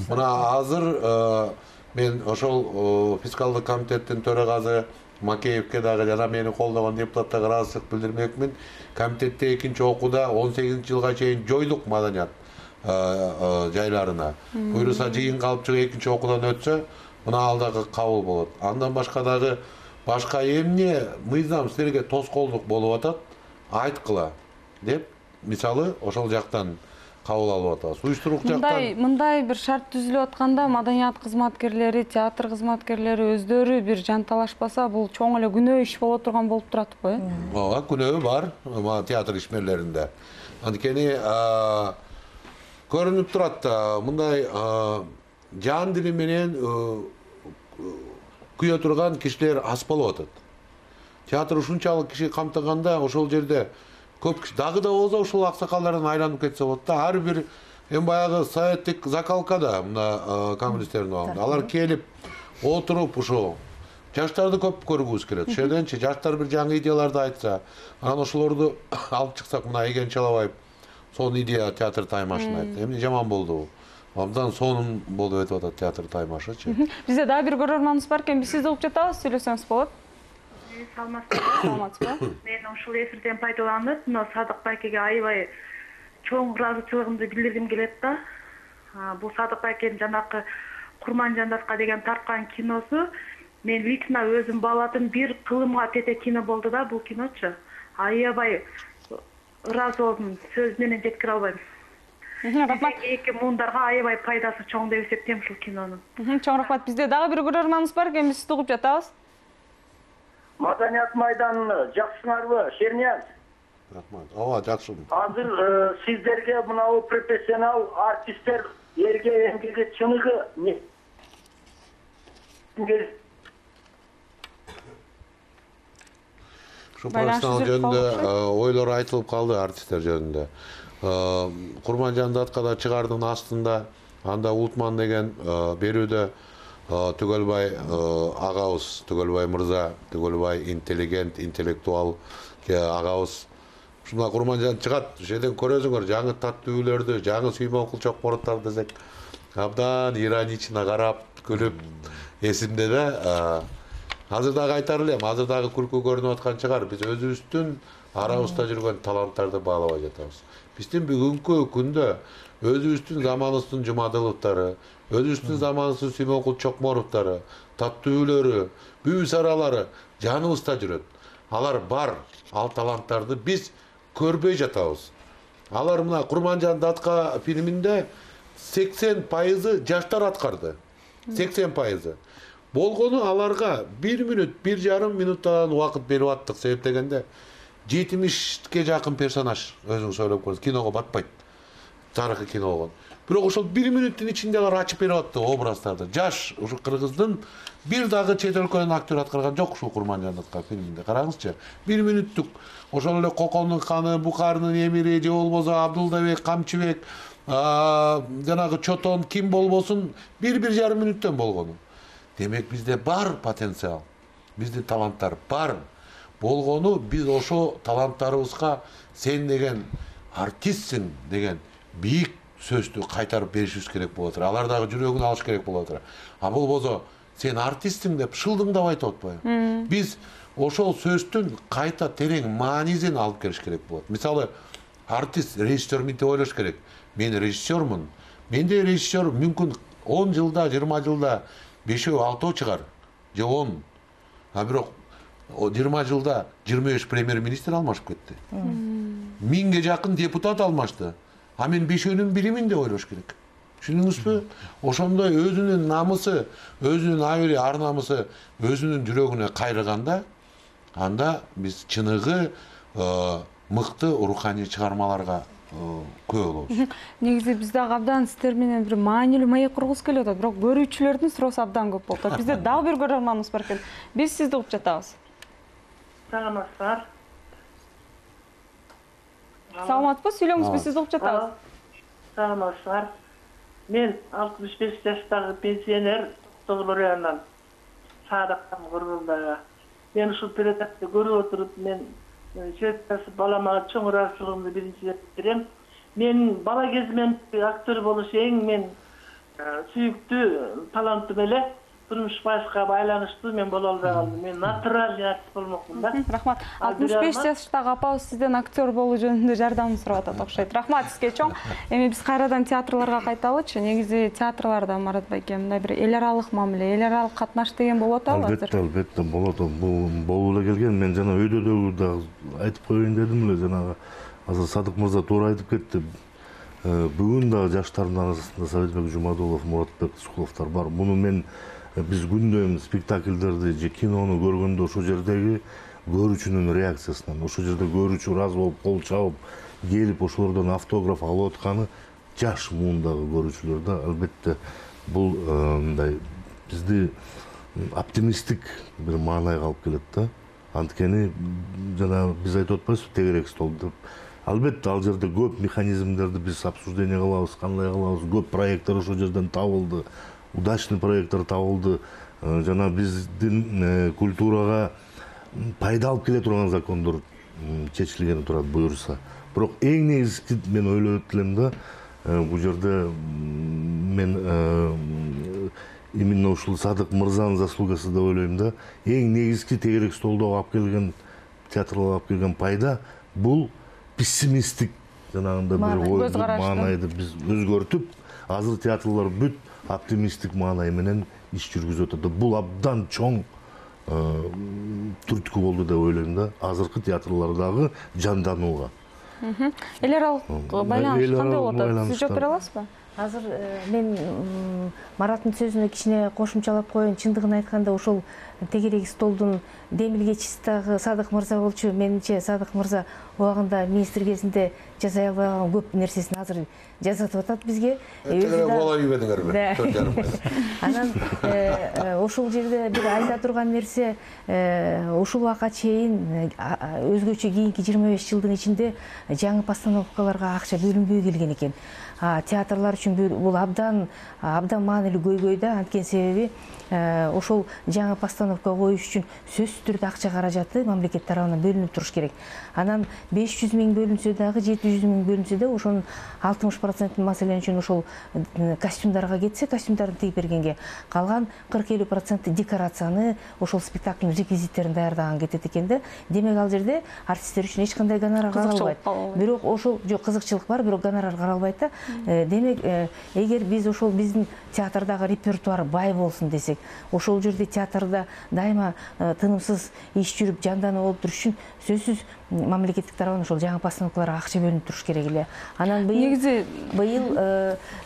Мына азыр мен ошол фискалдык комитеттин төрагасы Макеевке дагы жана мени колдогон депутаттарга ыраазычылык билдирмекмин. Комитетте экинчи окууда 18-жылга чейин жойлук маданият жайларына. Буюрса жыйын калып чыгып экинчи окуудан өтсө, мына ал дагы кабыл болот. Андан башка дагы башка эмне мыйзам силерге тоскоолдук болуп атат, айткыла деп, мисалы ошол жактан кабыл алып атабыз. Уюштурук жактан мындай бир шарт түзүлүп атканда маданият кызматкерлери, театр кызматкерлери өздөрү бир жанталашпаса, бул чоң эле күнөө иш боло турган болуп туратпы? Ооба, күнөө бар театр ишмерлеринде. Анткени көрүнүп турат да, мындай жан дили менен күйө турган кишилер аз болуп атат. Театр ушунчалык киши камтыганда ошол жерде көп киши дагы да болсо ушул аксакалдардан айланып кетсе болот да. Ар бир баягы советтик закалкада мына коммунисттердин убагында алар келип отуруп ушул жаштарды көп көргүбүз келет. Ошол жерденчи жаштар бир жаңы идеяларды айтса, анан ошолорду алып чыксак, мына Эген Чалабаев сонун идея театр Таймашын айтты. Эмне жаман болду? Абдан сонун болуп өтүп атат театр Таймашычы. Бизде дагы бир көрөрманыбыз бар экен. Биз сизди угуп жатабыз, сүйлөсөңүз болот. Саламатсызбы? Мен ушул эфирден пайдаланып, мына Садык байкеге аябай чоң ыраазычылыгымды билдиргим келет да. Бул Садык байкенин жанакы Курман Жандаровка деген тарткан киносу мен лично өзүм баладым, бир кылымга тете кино болду да бул киночу. Аябай ыраазы болдум, сөз менен жеткире албайм. Рахмат. Эки муундарга аябай пайдасы чоң деп эсептейм ушул кинонун. Чоң рахмат. Бизде дагы бир көрөрманыбыз бар экен. Биз сизди угуп жатабыз. Маданият майданын жакшысыңарбы, Шернияз? Рахмат. Ооба, жакшымын. Азыр сиздерге мынау профессионал артисттер эрге эмгеги чыныгы Ушу профессионал жөнүндө ойлор айтылып калды артисттер жөнүндө. Курманжан Даткада чыгардын астында анда Ултман деген берүүдө Түгөлбай агабыз, Түгөлбай мырза, Түгөлбай интеллигент, интеллектуал агабыз. Ушунда Курманжан чыгат, ошеден көрөсүңөр жаңы таттүүлөрдү, жаңы Сүймөн Кулчокборовдор десек, абдан иронично карап, күлүп эсимде да. Азыр дагы айтар элем, азыр дагы күлкү көрүнүп аткан чыгар. Биз өзүбүздүн арабызда жүргөн таланттарды баалабай жатабыз. Биздин бүгүнкү күндө өзүбүздүн заманыбыздын Жумадыловдору, өзүбүздүн заманыбыздын Сүймөн Кулчокборовдору, таттүүлөрү, бүү-саралары жаныбызда жүрөт. Алар бар, ал таланттарды биз көрбөй жатабыз. Алар мына Курманжан Датка фильминде 80% жаштар аткарды. 80%. Болгону аларга 1 мүнөт, 1,5 мүнөттөн убакыт берип аттык. Себеп дегенде 70ке жакын персонаж өзүңүз ойлоп көрүңүз, киного батпайт. Тарыхый кино болгон. Бирок ошол 1 мүнөттүн ичинде алар ачып берип атты образдарды. Жаш ушу кыргыздын бир дагы чет өлкөнүн актер аткарган жок ушул Курманжан Датка фильминде. Караңызчы. 1 мүнөттүк ошол эле Кокондун ханы, Бухарынын эмири же болбосо Абдулдабек, Камчыбек, жанагы Чотон ким болбосун 1,5 мүнөттөн болгону. Демек бизде бар потенциал. Биздин таланттар бар. Болгону биз ошо таланттарыбызга сен деген артистсиң деген бийик сөздү кайтарып беришибиз керек болот. Алар дагы жүрөгүн алыш керек болот. А болбосо сен артистсиң деп шылдыңдап айтып атпайбы? Биз ошол сөздүн кайта терең маанисин алып келиш керек болот. Мисалы, артист, режиссер мынтип ойлош керек. Мен режиссермун. Менде режиссер мүмкүн 10 жылда, 20 жылда 5-6 чыгар, же 10. А бирок 20 жылда 25 премьер-министр алмашып кетти. 1000ге жакын депутат алмашты. А мен 5-өнүн биримин деп ойлош керек. Түшүндүңүзбү? Ошондой өзүнүн намысы, өзүнүн абийири, ар намысы өзүнүн жүрөгүнө кайрыганда, анда биз чыныгы мыкты руханий чыгармаларга көп болобуз. Негизи биз дагы абдан сиздер менен бир маанилүү маек кургубуз келип атат, бирок көрүүчүлөрдүн суроосу абдан көп болуп атат. Бизде дагы бир көрөрманыбыз бар экен. Биз сизди угуп жатабыз. Саламатсыздар. Саламатпы, сүйлөңүз, биз сизди угуп жатабыз. Саламатсыздар. Мен 65 жаштагы пенсионер Тоголор районунан Саадактан Кыргызда. Мен ушул передачаны көрүп отуруп, мен чөптөсү балама чоң ыраазычылыгымды биринчи берем. Мен бала кезимден актер болуш эң мен сүйүктүү талантым эле. Турмуш башка байланыштуу мен боло албай калдым. Мен натуральный артист болмокмун да. Рахмат. 65 жаштагы апабыз сизден актер болуу жөнүндө жардамын сурап атат окшойт. Рахмат сизге чоң. Эми биз кайрадан театрларга кайталычы. Негизи театрларда Марат байке мындай бир эл аралык мамиле, эл аралык катнаш деген болуп атабы азыр? Албетте болот. Бул болуп эле келген. Мен жана өйдө дагы айтып коеюн дедим эле, жанагы азыр Садык мырза туура айтып кетти. Бүгүн дагы жаштардын арасында Советбек Жумадулов, Муратбек Сукуловдор бар. Муну мен биз күндөйм спектакльдерди же кинону көргөндө ошол жердеги көрүүчүнүн реакциясынан, ошол жерде көрүүчү ыраазы болуп, кол чабып, келип ошолордон автограф алып атканы жаш муундагы көрүүчүлөр да. Албетте бул мындай бизди оптимисттик бир маанайга алып келет да. Анткени жана биз айтып атпайбызбы тегерек стол деп. Албетте ал жерде көп механизмдерди биз обсуждение кылабыз, кандай кылабыз, көп проекттер ошол жерден табылды. Удачный проекттер табылды. Жана биздин культурага пайда алып келе турган закондор чечилгени турат буюрса. Бирок эң негизги мен ойлоп элем да, бул жерде мен именно ушул Садык мырзанын заслугасы деп ойлойм да. Эң негизги тегерек столдо алып келген, театрга алып келген пайда бул пессимисттик жанагындай бир маанайды биз өзгөртүп, азыр театрлар бүт оптимисттик маанай менен иш жүргүзүп атат. Бул абдан чоң түрткү болду деп ойлойм да, азыркы театрлардагы жанданууга. Эл аралык байланыш кандай болуп атат? Сиз жооп бере аласызбы? Азыр мен Мараттын сөзүнө кичине кошумчалап коеюн. Чындыгын айтканда ошол тегерек столдун демилгечиси дагы Садык мырза болчу. Менимче Садык мырза убагында министр кезинде жасай албаган көп нерсесин азыр жасатып атат бизге. Бола үйбедиңерби? 4,5 ай. Анан ошол жерде бир айта турган нерсе, ушул убакка чейин өзгөчө кийинки 25 жылдын ичинде жаңы постановкаларга акча бөлүнбөй келген экен. Театрлар үчүн бул абдан маанилүү көйгөй да. Анткени себеби ошол жаңы постановка коюш үчүн сөзсүз түрдө акча каражаты мамлекет тарабынан бөлүнүп туруш керек. Анан 500 миң бөлүнсө дагы, 700 миң бөлүнсө да ошонун 60% маселен үчүн ошол костюмдарга кетсе, костюмдарды тигип бергенге, калган 40-50% декорацияны, ошол спектакльдин реквизиттерин даярдаган кетет экен да. Демек ал жерде артисттер үчүн эч кандай гонорар каралбайт. Бирок ошол жок, кызыкчылык бар, бирок гонорар каралбайт да. Демек, эгер биз ошол биздин театрдагы репертуар бай болсун десек, ошол жерде театрда дайыма тынымсыз иш жүрүп, жандануу болуп туруш үчүн сөзсүз мамлекеттик тарабынан ошол жаңы постановкаларга акча бөлүнүп туруш керек эле. Анан быйыл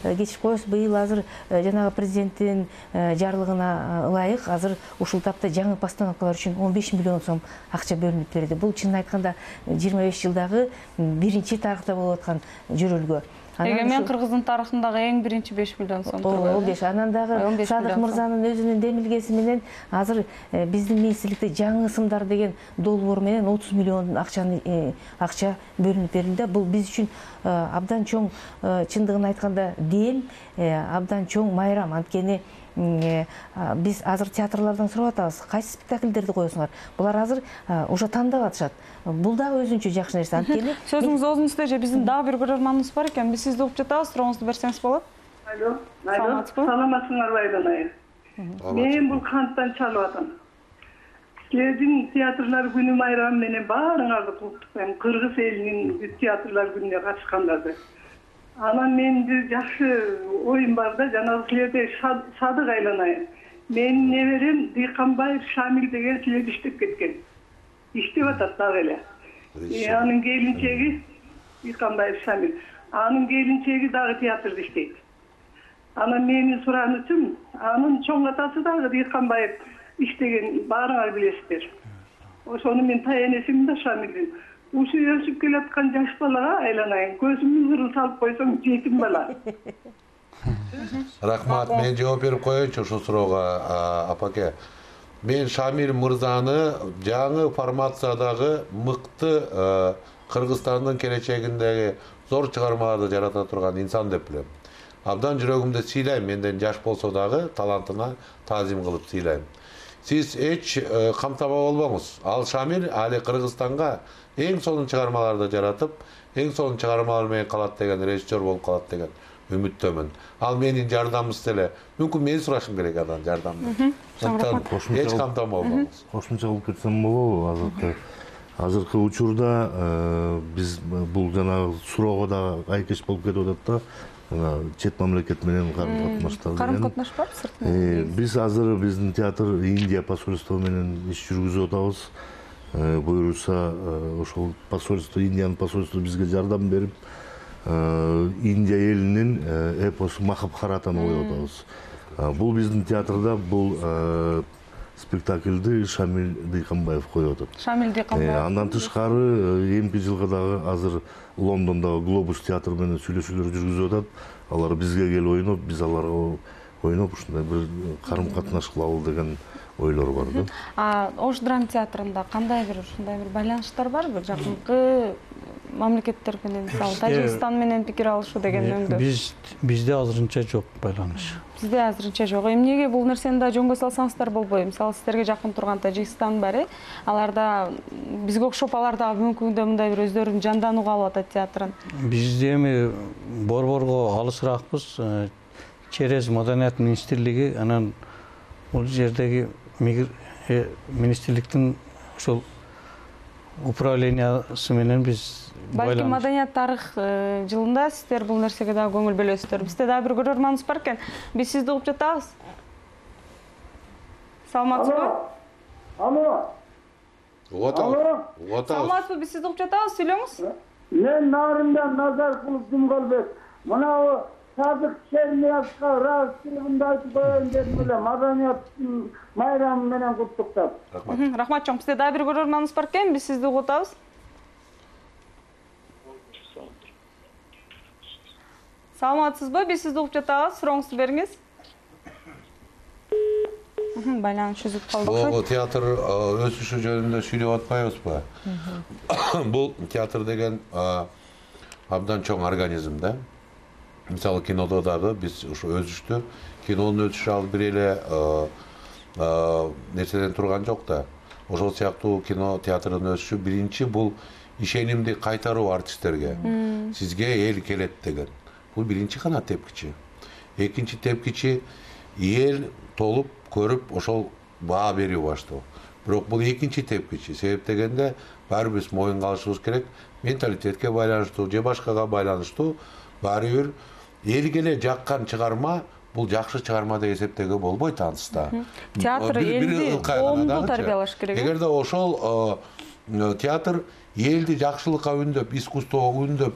кечирип коесуз, быйыл азыр жанагы президенттин жарлыгына ылайык азыр ушул тапта жаңы постановкалар үчүн 15 миллион сом акча бөлүнүп берди. Бул чынын айтканда 25 жылдагы биринчи тарыхта болуп аткан жөрөлгө. Эгемен Кыргыздын тарыхындагы эң биринчи 5 миллион сом. 15. Анан дагы Садык мырзанын өзүнүн демилгеси менен азыр биздин министрликте жаңы ысымдар деген долбоор менен 30 миллион акча бөлүнүп берилди. Бул биз үчүн абдан чоң, чындыгын айтканда дем, абдан чоң майрам. Анткени биз азыр театрлардан сурап атабыз, кайсы спектакльдерди коесуңар? Булар азыр уже тандап атышат. Бул да өзүнчө жакшы нерсе. Анткени сөзүңүз оозуңузда же биздин дагы бир көрөрманыбыз бар экен. Биз сизди угуп жатабыз, сурооңузду берсеңиз болот. Алло, саламатсыңарбы Айдана? Мен бул канттан чалып атам. Силердин театрлар күнү майрамы менен баарыңарды куттуктайм. Кыргыз элинин театрлар күнүнө катышкандарды. Анан менин жакшы оюм бар да, жанагы силерде Садык айланайын. Менин неберем Дыйканбаев Шамил деген силер иштеп кеткен. Иштеп атат дагы эле. Анын келинчеги Дыйканбаев Шамил. Анын келинчеги дагы театрда иштейт. Анан менин суранычым, анын чоң атасы дагы Дыйканбаев иштеген, баарыңар билесиздер. Ошону мен таянесим да Шамилдин. Ушу өсүп келаткан жаш балага айланайын. Көзүмдүн нурун салып койсоң жетим бала. Рахмат, мен жооп берип коеюнчу ушул суроого, апаке. Мен Шамил мырзаны жаңы формациядагы мыкты Кыргызстандын келечегиндеги зор чыгармаларды жарата турган инсан деп билем. Абдан жүрөгүмдө сыйлайм, менден жаш болсо дагы талантына таазим кылып сыйлайм. Сиз эч камтаба болбоңуз. Ал Шамил али Кыргызстанга эң сонун чыгармаларды жаратып, эң сонун чыгармалар менен калат деген, режиссер болуп калат деген үмүттөмүн. Ал менин жардамчысы эле. Мүмкүн мен сурашым керек андан жардамды. Эч камтама болбоңуз. Кошумча кылып кетсем болобу? Азыркы учурда биз бул жанагы суроого да айкеш болуп кетип атат да. Чет мамлекет менен карым-катнаштар. Карым-катнаш бар сыртынан? Биз азыр биздин театр Индия посольство менен иш жүргүзүп атабыз. Буюрса ошол посольство, Индиянын посольствосу бизге жардам берип, Индия элинин эпосу Махабхаратаны коюп атабыз. Бул биздин театрда бул спектакльди Шамил Дыйканбаев коюп атат. Шамил Дыйканбаев. Андан тышкары эмки жылга дагы азыр Лондондогу Глобус театр менен сүйлөшүүлөр жүргүзүп атат. Алар бизге келип ойноп, биз аларга ойноп ушундай бир карым-катнаш кылалы деген ойлор бар да. Ош драма театрында кандай бир ушундай бир байланыштар барбы? Жакынкы мамлекеттер менен, мисалы Тажикстан менен пикир алышуу деген өңдө. Бизде азырынча жок байланыш. Бизде азырынча жок. Эмнеге бул нерсени да жөнгө салсаңыздар болбойбу? Мисалы сиздерге жакын турган Тажикстан бар, аларда бизге окшоп алар дагы бүгүнкү күндө мындай бир өздөрүн жанданууга алып атат театрын. Бизде эми борборго алысыраакпыз. Через Маданият министрлиги, анан бул жердеги министрликтин ошол управлениясы менен биз балким Маданият тарых жылында сиздер бул нерсеге дагы көңүл бөлөсүздөр. Бизде дагы бир көрөрманыбыз бар экен. Биз сизди угуп жатабыз. Саламатсызбы? Алло. Саламатсызбы? Биз сизди угуп жатабыз, сүйлөңүз. Мен Нарымдан Назаркулов Думгалбек. Мына Sadık Şerniyaz'a rahatsızlığında айтып koyun dedim öyle. Madaniyat bayramı menen kutluktap. Рахмат чоң. Бизде дагы бир көрөрманыбыз бар экен. Биз сизди угуп атабыз. Саламатсызбы? Биз сизди угуп жатабыз. Сурооңузду бериңиз. Байланыш үзүп калды. Бул театр өсүшү жөнүндө сүйлөп атпайбызбы? Бул театр деген абдан чоң организм да. Мисалы кинодо дагы биз ушу өсүштү. Кинонун өсүшү ал бир эле нерседен турган жок да. Ошол сыяктуу кино театрдын өсүшү биринчи бул ишенимди кайтаруу артисттерге. Сизге эл келет деген. Бул биринчи гана тепкичи. Экинчи тепкичи эл толуп көрүп ошол баа берип баштоо. Бирок бул экинчи тепкичи. Себеп дегенде баары биз моюнга алышыбыз керек. Менталитетке байланыштуу же башкага байланыштуу баары бир элге эле жаккан чыгарма бул жакшы чыгарма деп эсептөөгө болбойт ансызда. Театр элди коомду тарбиялаш керек. Эгерде ошол театр элди жакшылыкка үндөп, искусствого үндөп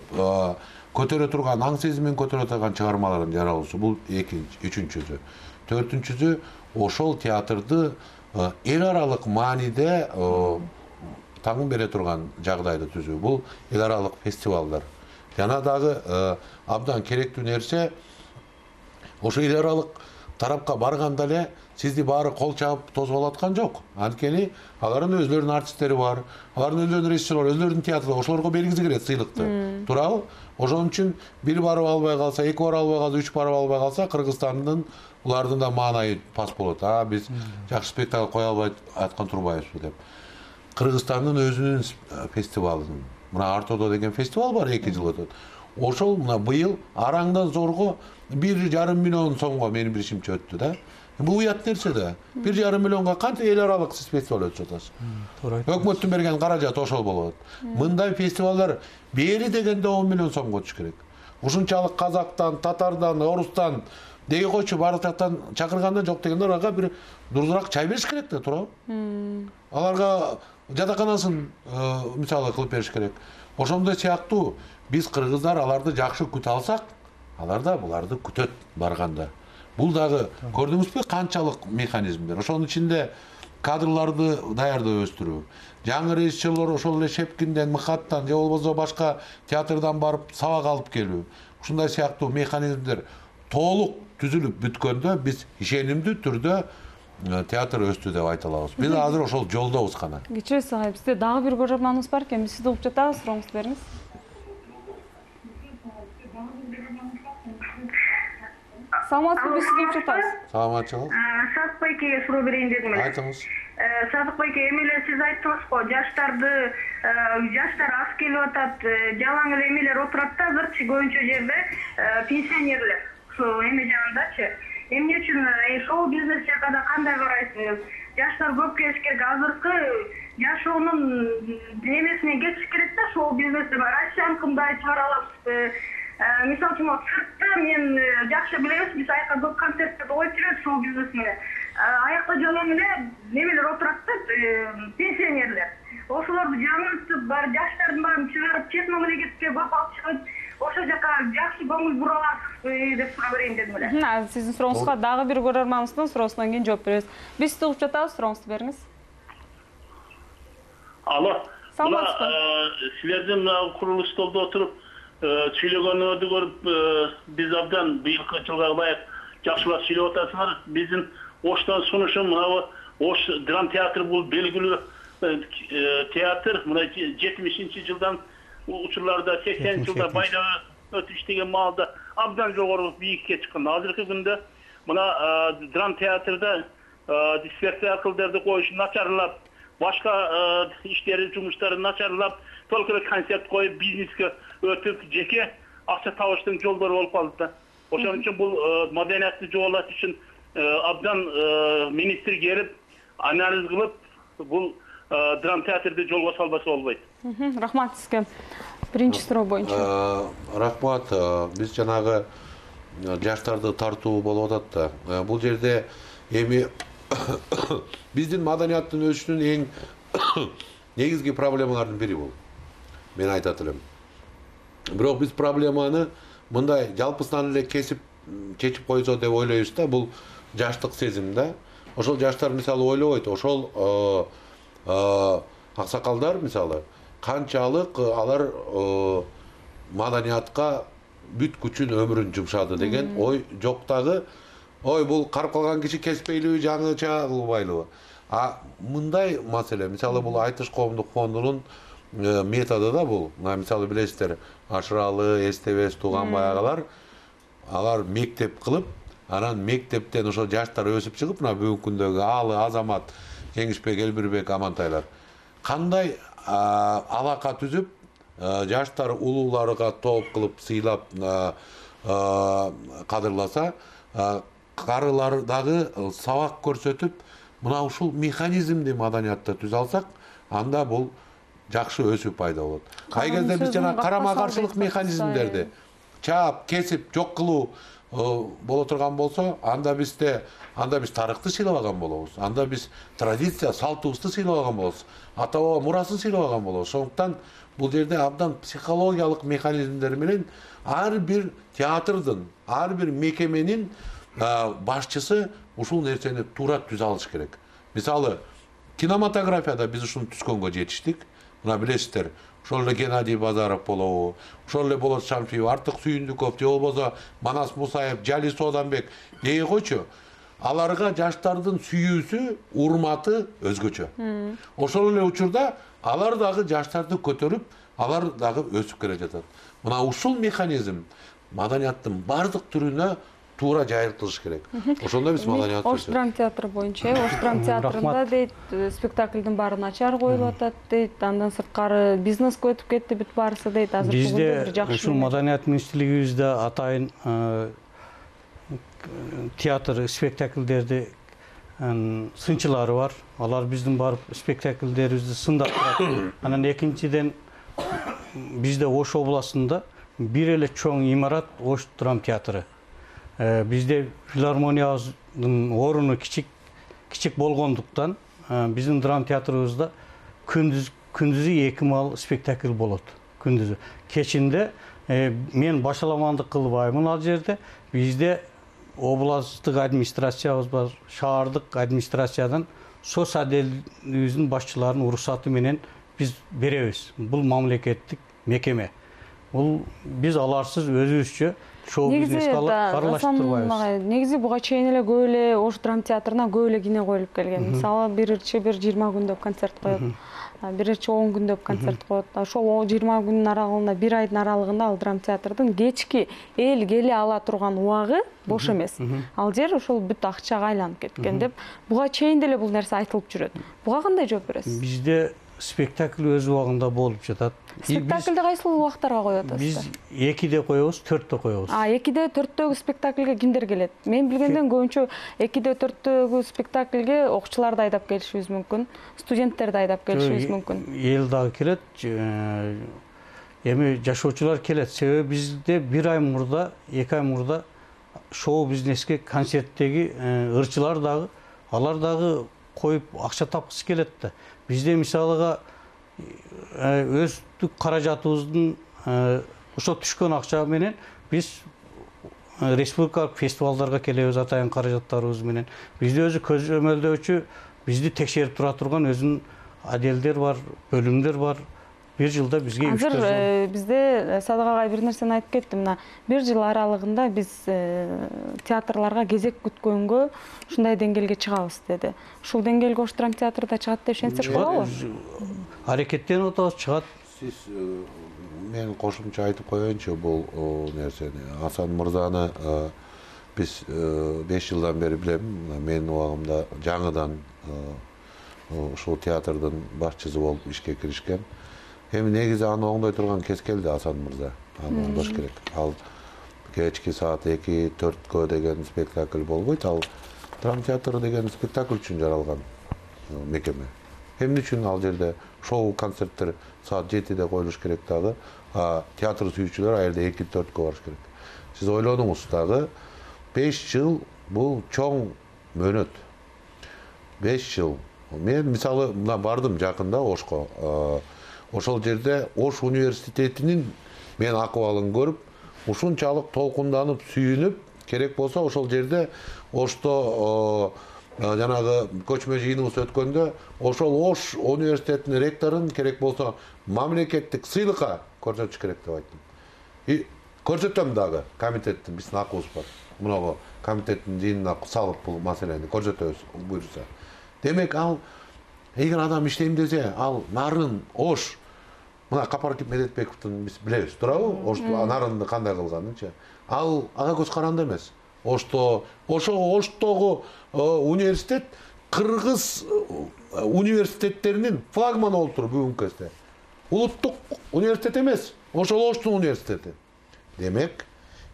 көтөрө турган, аң сезимин көтөрө турган чыгармаларын жаралуусу бул экинчи, үчүнчүсү. Төртүнчүсү ошол театрды эл аралык мааниде таңын бере турган жагдайды түзүү. Бул эл аралык фестивалдар. Жана дагы абдан керектүү нерсе ошо эл аралык тарапка барганда эле сизди баары кол чабып тосуп алаткан жок. Анткени алардын өзлөрүнүн артисттери бар, алардын өзлөрүнүн режиссерлори, өзлөрүнүн театрлары, ошолорго бергизи келет сыйлыкты. Туурабы? Ошон үчүн бир барып албай калса, эки барып албай калса, үч барып албай калса, Кыргызстандын улардын да маанайы пас болот. Биз жакшы спектакль кое албай аткан турбайбызбы деп. Кыргызстандын өзүнүн фестивалынын мына Артодо деген фестивал бар, 2 жыл өтөт. Ошол мына быйыл араңдан зорго 1,5 миллион сомго менин билишимче өттү да. Бул уят нерсе да. 1,5 миллионго канча эл аралык сиз фестиваль өтүп атасыз. Өкмөттүн берген каражат ошол болот. Мындай фестивалдар бери дегенде 10 миллион сомго өтүш керек. Ушунчалык казактан, татардан, орустан деги койчу баардык жактан чакырганда жок дегенде аларга бир дурдураак чай бериш керек да, туурабы? Аларга жатаканасын мисалы кылып бериш керек. Ошондой сыяктуу биз кыргыздар аларды жакшы күтө алсак, алар да буларды күтөт барганда. Бул дагы көрдүңүзбү канчалык механизмдер. Ошонун ичинде кадрларды даярдап өстүрүү. Жаңы режиссерлор ошол эле Шепкинден, Мыхаттан же болбосо башка театрдан барып сабак алып келүү. Ушундай сыяктуу механизмдер толук түзүлүп бүткөндө биз ишенимдүү түрдө театр өстү деп айта алабыз. Биз азыр ошол жолдобуз гана. Кечиресиз агай, бизде дагы бир көрөрманыбыз бар экен. Биз сизди угуп жатабыз, сурооңузду бериңиз. Саламатсызбы, биз сизди угуп жатабыз. Саламатчылык. Садык байкеге суроо берейин дедим эле. Айтыңыз. Садык байке, эми эле сиз айттыңыз го, жаштар аз келип атат, жалаң эле эмелер отурат да, азырчы көбүнчө жерде пенсионерлер. Ошо эме жагындачы. Эмне үчүн шоу бизнес жагында кандай карайсыз? Жаштар көп келиш керек. Азыркы жашоонун немесине кетиш керек да, шоу бизнесте бар. Россияны кандай чыгара алабыз? Мисалы үчүн сыртта мен жакшы билебиз, биз аякка көп концерттерди коюп жүрөбүз шоу бизнес менен. Аякта жалаң эле немелер отурат да, пенсионерлер. Ошолорду жаңыртып, бар жаштардын баарын чыгарып, чет мамлекетке көп алып чыгып, ошол жака жакшы көңүл бура аласызбы деп суроо берейин дедим эле. Сиздин сурооңузга дагы бир көрөрманыбыздын суроосунан кийин жооп беребиз. Биз сизди угуп жатабыз, сурооңузду бериңиз. Алло. Саламатсызбы? Силердин курулуш столдо отуруп сүйлөгөнүңөрдү көрүп, биз абдан быйылкы жылга ылайык жакшылап сүйлөп атасыңар. Биздин Оштон сунушум мына Ош драм театры бул белгилүү театр. Мына 70-жылдан учурларда 80 жылда байда өтүп иштеген маалда абдан жогору бийикке чыккан. Азыркы күндө мына драм театрда спектакльдерди коюш начарлап, башка иштери, жумуштары начарлап, только эле концерт коюп, бизнеске өтүп, жеке акча табыштын жолдору болуп калды да. Ошон үчүн бул маданиятты жоголаш үчүн абдан министр келип, анализ кылып, бул драм театрды жолго салбаса болбойт. Рахмат сизге. Биринчи суроо боюнча. Рахмат. Биз жанагы жаштарды тартуу болуп атат да. Бул жерде эми биздин маданияттын өсүшүнүн эң негизги проблемалардын бири бул. Мен айтат элем. Бирок биз проблеманы мындай жалпысынан эле кесип чечип койсо деп ойлойбуз да, бул жаштык сезим да. Ошол жаштар мисалы ойлобойт, ошол аксакалдар мисалы канчалык алар маданиятка бүт күчүн өмүрүн жумшады деген ой жок дагы. Ой, бул карып калган киши кеспейлиби, жаңыча кылбайлыбы? Мындай маселе, мисалы бул Айтыш коомдук фондунун методу да бул. Мисалы билесиздер, Ашыралы, Эстебес, Туган баягылар, алар мектеп кылып, анан мектептен ошо жаштар өсүп чыгып, мына бүгүнкү күндөгү Алы, Азамат, Кеңишбек, Элбирбек, Амантайлар кандай алака түзүп, жаштар улууларга топ кылып сыйлап кадырласа, карылар дагы сабак көрсөтүп, мына ушул механизмди маданиятта түзө алсак, анда бул жакшы өсүү пайда болот. Кай кезде биз жана карама каршылык механизмдерди чаап, кесип, жок кылуу боло турган болсо, анда биз тарыхты сыйлабаган болобуз. Анда биз традиция, салтыбызды сыйлабаган болобуз. Ата баба мурасын сыйлабаган болобуз. Ошондуктан бул жерде абдан психологиялык механизмдер менен ар бир театрдын, ар бир мекеменин башчысы ушул нерсени туура түзө алыш керек. Мисалы, кинематографияда биз ушуну түзгөнгө жетиштик. Мына билесиздер, ошол эле Геннадий Базаров болобу, ошол эле Болот Шамшиев, Артык Сүйүндүков, же болбосо Манас Мусаев, Жали Сооданбек дей койчу. Аларга жаштардын сүйүүсү, урматы өзгөчө. Ошол эле учурда алар дагы жаштарды көтөрүп, алар дагы өсүп келе жатат. Мына ушул механизм маданияттын бардык түрүнө туура жайылтылыш керек. Ошондо биз маданият Ош драм театры боюнча, Ош драм театрында дейт, спектаклдин баары начар коюлуп атат дейт, андан сырткары бизнеске өтүп кетти бүт баарысы дейт. Азыр бизде ушул маданият министрлигибизде атайын театр спектаклдерди сынчылары бар. Алар биздин барып спектаклдерибизди сындап турат. Анан экинчиден бизде Ош областында бир эле чоң имарат Ош драм театры. Бизде филармониябыздын оруну кичик болгондуктан биздин драм театрыбызда күндүзү 2 мал спектакль болот. Күндүзү. Кечинде мен башаламандык кылбаймын ал жерде. Бизде областтык администрациябыз бар, шаардык администрациядан СОС отделибиздин башчыларынын уруксаты менен биз беребиз. Бул мамлекеттик мекеме. Бул биз аларсыз өзүбүзчө шоу бизнести аралаштырып турбайбыз. Негизи буга чейин эле көп эле Ош драм театрына көп эле кино коюлуп келген. Мисалы, биринчи 20 күндөп концерт коет. Биринчи 10 күндөп концерт коет. Ошол 20 күндүн аралыгында, 1 айдын аралыгында ал драм театрдын кечки эл келе ала турган убагы бош эмес. Ал жер ошол бүт акчага айланып кеткен деп, буга чейин деле бул нерсе айтылып жүрөт. Буга кандай жооп бересиз? Бизде спектакль өз убагында болуп жатат. Спектакльди кайсыл убактарга коюп атасыздар? Биз 2де коебуз, 4те коебуз. 2де 4төгү спектакльге кимдер келет? Мен билгенден көбүнчө 2де 4төгү спектакльге окуучуларды айдап келишибиз мүмкүн, студенттерди айдап келишибиз мүмкүн. Эл дагы келет, эми жашоочулар келет. Себеби бизде 1 ай мурда, 2 ай мурда шоу бизнеске концерттеги ырчылар дагы, алар дагы коюп акча тапкысы келет да. Бизде мисалыга өздүк каражатыбыздын ошо түшкөн акча менен биз республикалык фестивалдарга келебиз атайын каражаттарыбыз менен. Бизде өзү көзөмөлдөөчү, бизди текшерип тура турган өзүнүн отделдер бар, бөлүмдөр бар. 1 жылда бизге азыр бизде Садык агай бир нерсени айтып кетти. Мына 1 жыл аралыгында биз театрларга кезек күткөнгө ушундай деңгээлге чыгабыз деди. Ушул деңгээлге Ош драм театрда чыгат деп ишенсек болобу? Аракеттенип атабыз, чыгат. Сиз мен кошумча айтып коеюнчу бул нерсени. Асан мырзаны биз 5 жылдан бери билем. Менин убагымда жаңыдан ушул театрдын башчысы болуп ишке киришкен. Эми негизи аны оңдой турган кез келди Асан мырза. Аны оңдош керек. Ал кечки саат 2-4кө деген спектакль болбойт. Ал драм театры деген спектакль үчүн жаралган мекеме. Эмне үчүн ал жерде шоу концерттер саат 7де коюлуш керек дагы, театр сүйүүчүлөр ал жерде 2-4кө барыш керек. Сиз ойлонуңуз дагы 5 жыл бул чоң мөөнөт. 5 жыл. Мен мисалы мына бардым жакында Ошко. Ошол жерде Ош университетинин мен акыбалын көрүп, ушунчалык толкунданып сүйүнүп керек болсо ошол жерде Ошто жанагы көчмө жыйыныбыз өткөндө ошол Ош университетинин ректорун керек болсо мамлекеттик сыйлыкка көрсөтүш керек деп айттым. И көрсөтөм дагы, комитеттин биздин акыбыз бар. Мунагу комитеттин жыйынына салып бул маселени көрсөтөбүз буюрса. Демек ал эгер адам иштейм десе, ал нарын Ош мына Капаркин Медетбековдун биз билебиз, туурабы? Ошту нарынды кандай кылганынчы. Ал ага көз каранды эмес. Ошто Оштогу университет кыргыз университеттеринин флагманы болуп тур бүгүнкү кезде. Улуттук университет эмес, ошол Оштун университети. Демек,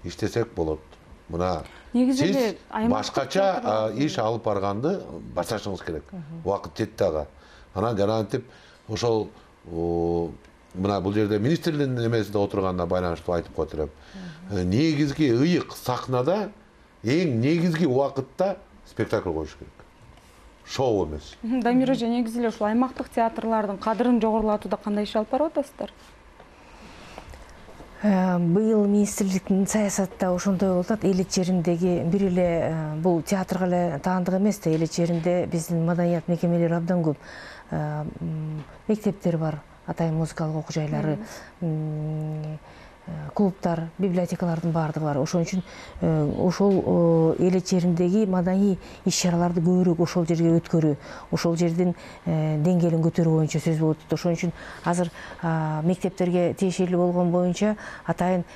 иштесек болот. Мына сиз башкача иш алып барганды башташыңыз керек. Убакыт жетти ага. Анан жанагынтип ошол мына бул жерде министрликтин эмесинде отурганына байланыштуу айтып коет элем. Негизги ыйык сахнада эң негизги убакытта спектакль коюш керек. Шоу эмес. Дамир эже, негизи эле ушул аймактык театрлардын кадырын жогорулатууда кандай иш алып барып атасыздар? Быйыл министрликтин саясатта ошондой болуп атат. Эл ичерindеги бир эле бул театрга эле таандык эмес да, эл ичеринде биздин маданият мекемелери абдан көп. Мектептер бар, атайын музыкалык окуу жайлары, клубтар, библиотекалардын баардыгы бар. Ошон үчүн ошол эл ичерindеги маданий иш-чараларды көбүрөөк ошол жерге өткөрүү, ошол жердин деңгээлин көтөрүү боюнча сөз болуп атат. Ошон үчүн азыр мектептерге тиешелүү болгон боюнча атайын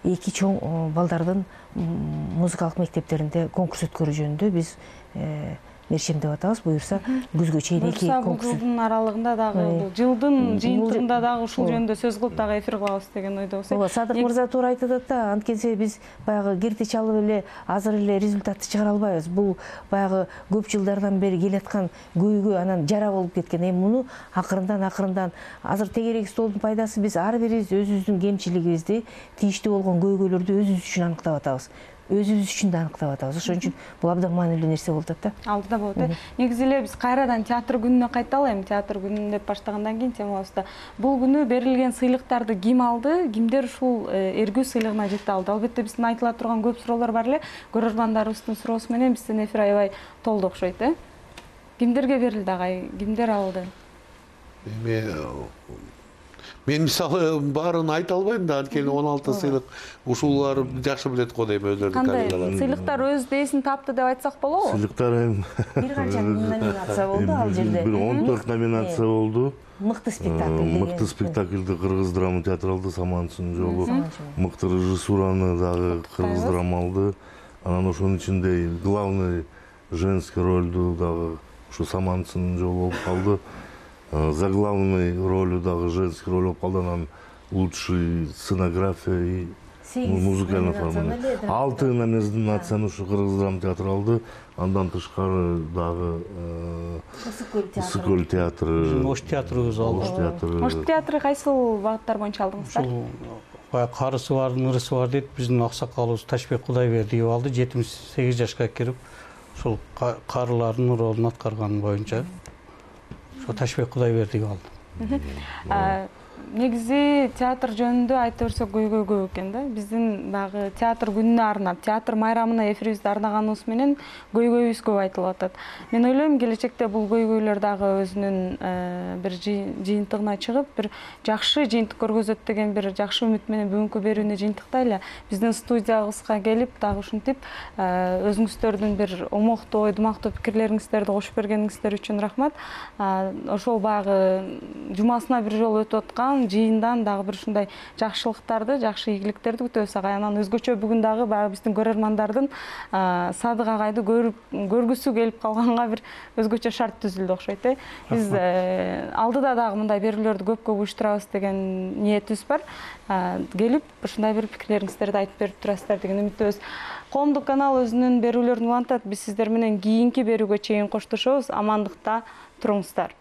эки чоң балдардын музыкалык мектептеринде конкурс өткөрүү жөнүндө биз мерчемдеп атабыз. Буюрса күзгө чейин эки конкурс. Жылдын аралыгында дагы, бул жылдын жыйынтыгында дагы ушул жөнүндө сөз кылып дагы эфир кылабыз деген ойдобуз. Ооба, Садык мырза туура айтып атат да, анткенсе биз баягы кирти чалып эле азыр эле результатты чыгара албайбыз. Бул баягы көп жылдардан бери келаткан көйгөй анан жара болуп кеткен. Эми муну акырындан азыр тегерек столдун пайдасы биз ар бирибиз өзүбүздүн кемчилигибизди, тийиштүү болгон көйгөйлөрдү өзүбүз үчүн аныктап атабыз. Өзүбүз үчүн да аныктап атабыз. Ошон үчүн бул абдан маанилүү нерсе болуп атат да. Алдыда болот. Негизи эле биз кайрадан театр күнүнө кайталы, эми театр күнүн деп баштагандан кийин темабызда. Бул күнү берилген сыйлыктарды ким алды, кимдер ушул эргүү сыйлыгына жете алды? Албетте биздин айтыла турган көп суроолор бар эле. Көрөрмандарыбыздын суроосу менен биздин эфир аябай толду окшойт, Кимдерге берилди агай? Кимдер алды? Мен мисалы баарын айта албайм да, анткени 16 сыйлык ушулар жакшы билет го дейм өздөрүнүн коллегалары. Кандай сыйлыктар өз дээсин тапты деп айтсак болобу? Сыйлыктар бир канча номинация болду ал жерде. Бир 14 номинация болду. Мыкты спектакль. Мыкты спектакльди Кыргыз драма театры алды, Саманчынын жолу. Мыкты режиссураны дагы Кыргыз драма алды. Анан ошонун ичинде главный женский ролду дагы ушу Саманчынын жолу болуп калды. Заглавной ролью дагы женский роль болуп калды. Анан лучший сценография и музыкальный оформление. 6 номинацияны ушу Кыргыз драма театры алды. Андан тышкары дагы Ысык-Көл театры, Ош театрыбыз алды. Ош театры кайсыл багыттар боюнча алдыңыздар? Ушул баягы карысы бар, нырысы бар дейт. Биздин аксакалыбыз Ташбек Кудайбердиев алды. 78 жашка кирип, ушул карылардын ролун аткарган боюнча Ташбек Кудайбердиев алды. Негизи театр жөнүндө айта берсек көйгөй көп экен да. Биздин дагы театр күнүнө арнап, театр майрамына эфирибизди арнаганыбыз менен көйгөйүбүз көп айтылып атат. Мен ойлойм, келечекте бул көйгөйлөр дагы өзүнүн бир жыйынтыгына чыгып, бир жакшы жыйынтык көргөзөт деген бир жакшы үмүт менен бүгүнкү берүүнү жыйынтыктайлы. Биздин студиябызга келип, дагы ушинтип өзүңүздөрдүн бир омоктуу, ойдумактуу пикирлериңиздерди кошуп бергениңиздер үчүн рахмат. Ошол баягы жумасына бир жолу өтүп аткан жыйындан дагы бир ушундай жакшылыктарды, жакшы ийгиликтерди күтөбүз агай. Анан өзгөчө бүгүн дагы баягы биздин көрөрмандардын Садык агайды көргүсү келип калганга бир өзгөчө шарт түзүлдү окшойт. Биз алдыда дагы мындай берүүлөрдү көп уюштурабыз деген ниетибиз бар. Келип ушундай бир пикирлериңиздерди айтып берип турасыздар деген үмүттөбүз. Коомдук канал өзүнүн берүүлөрүн улантат. Биз сиздер менен кийинки берүүгө чейин коштошобуз. Амандыкта туруңуздар.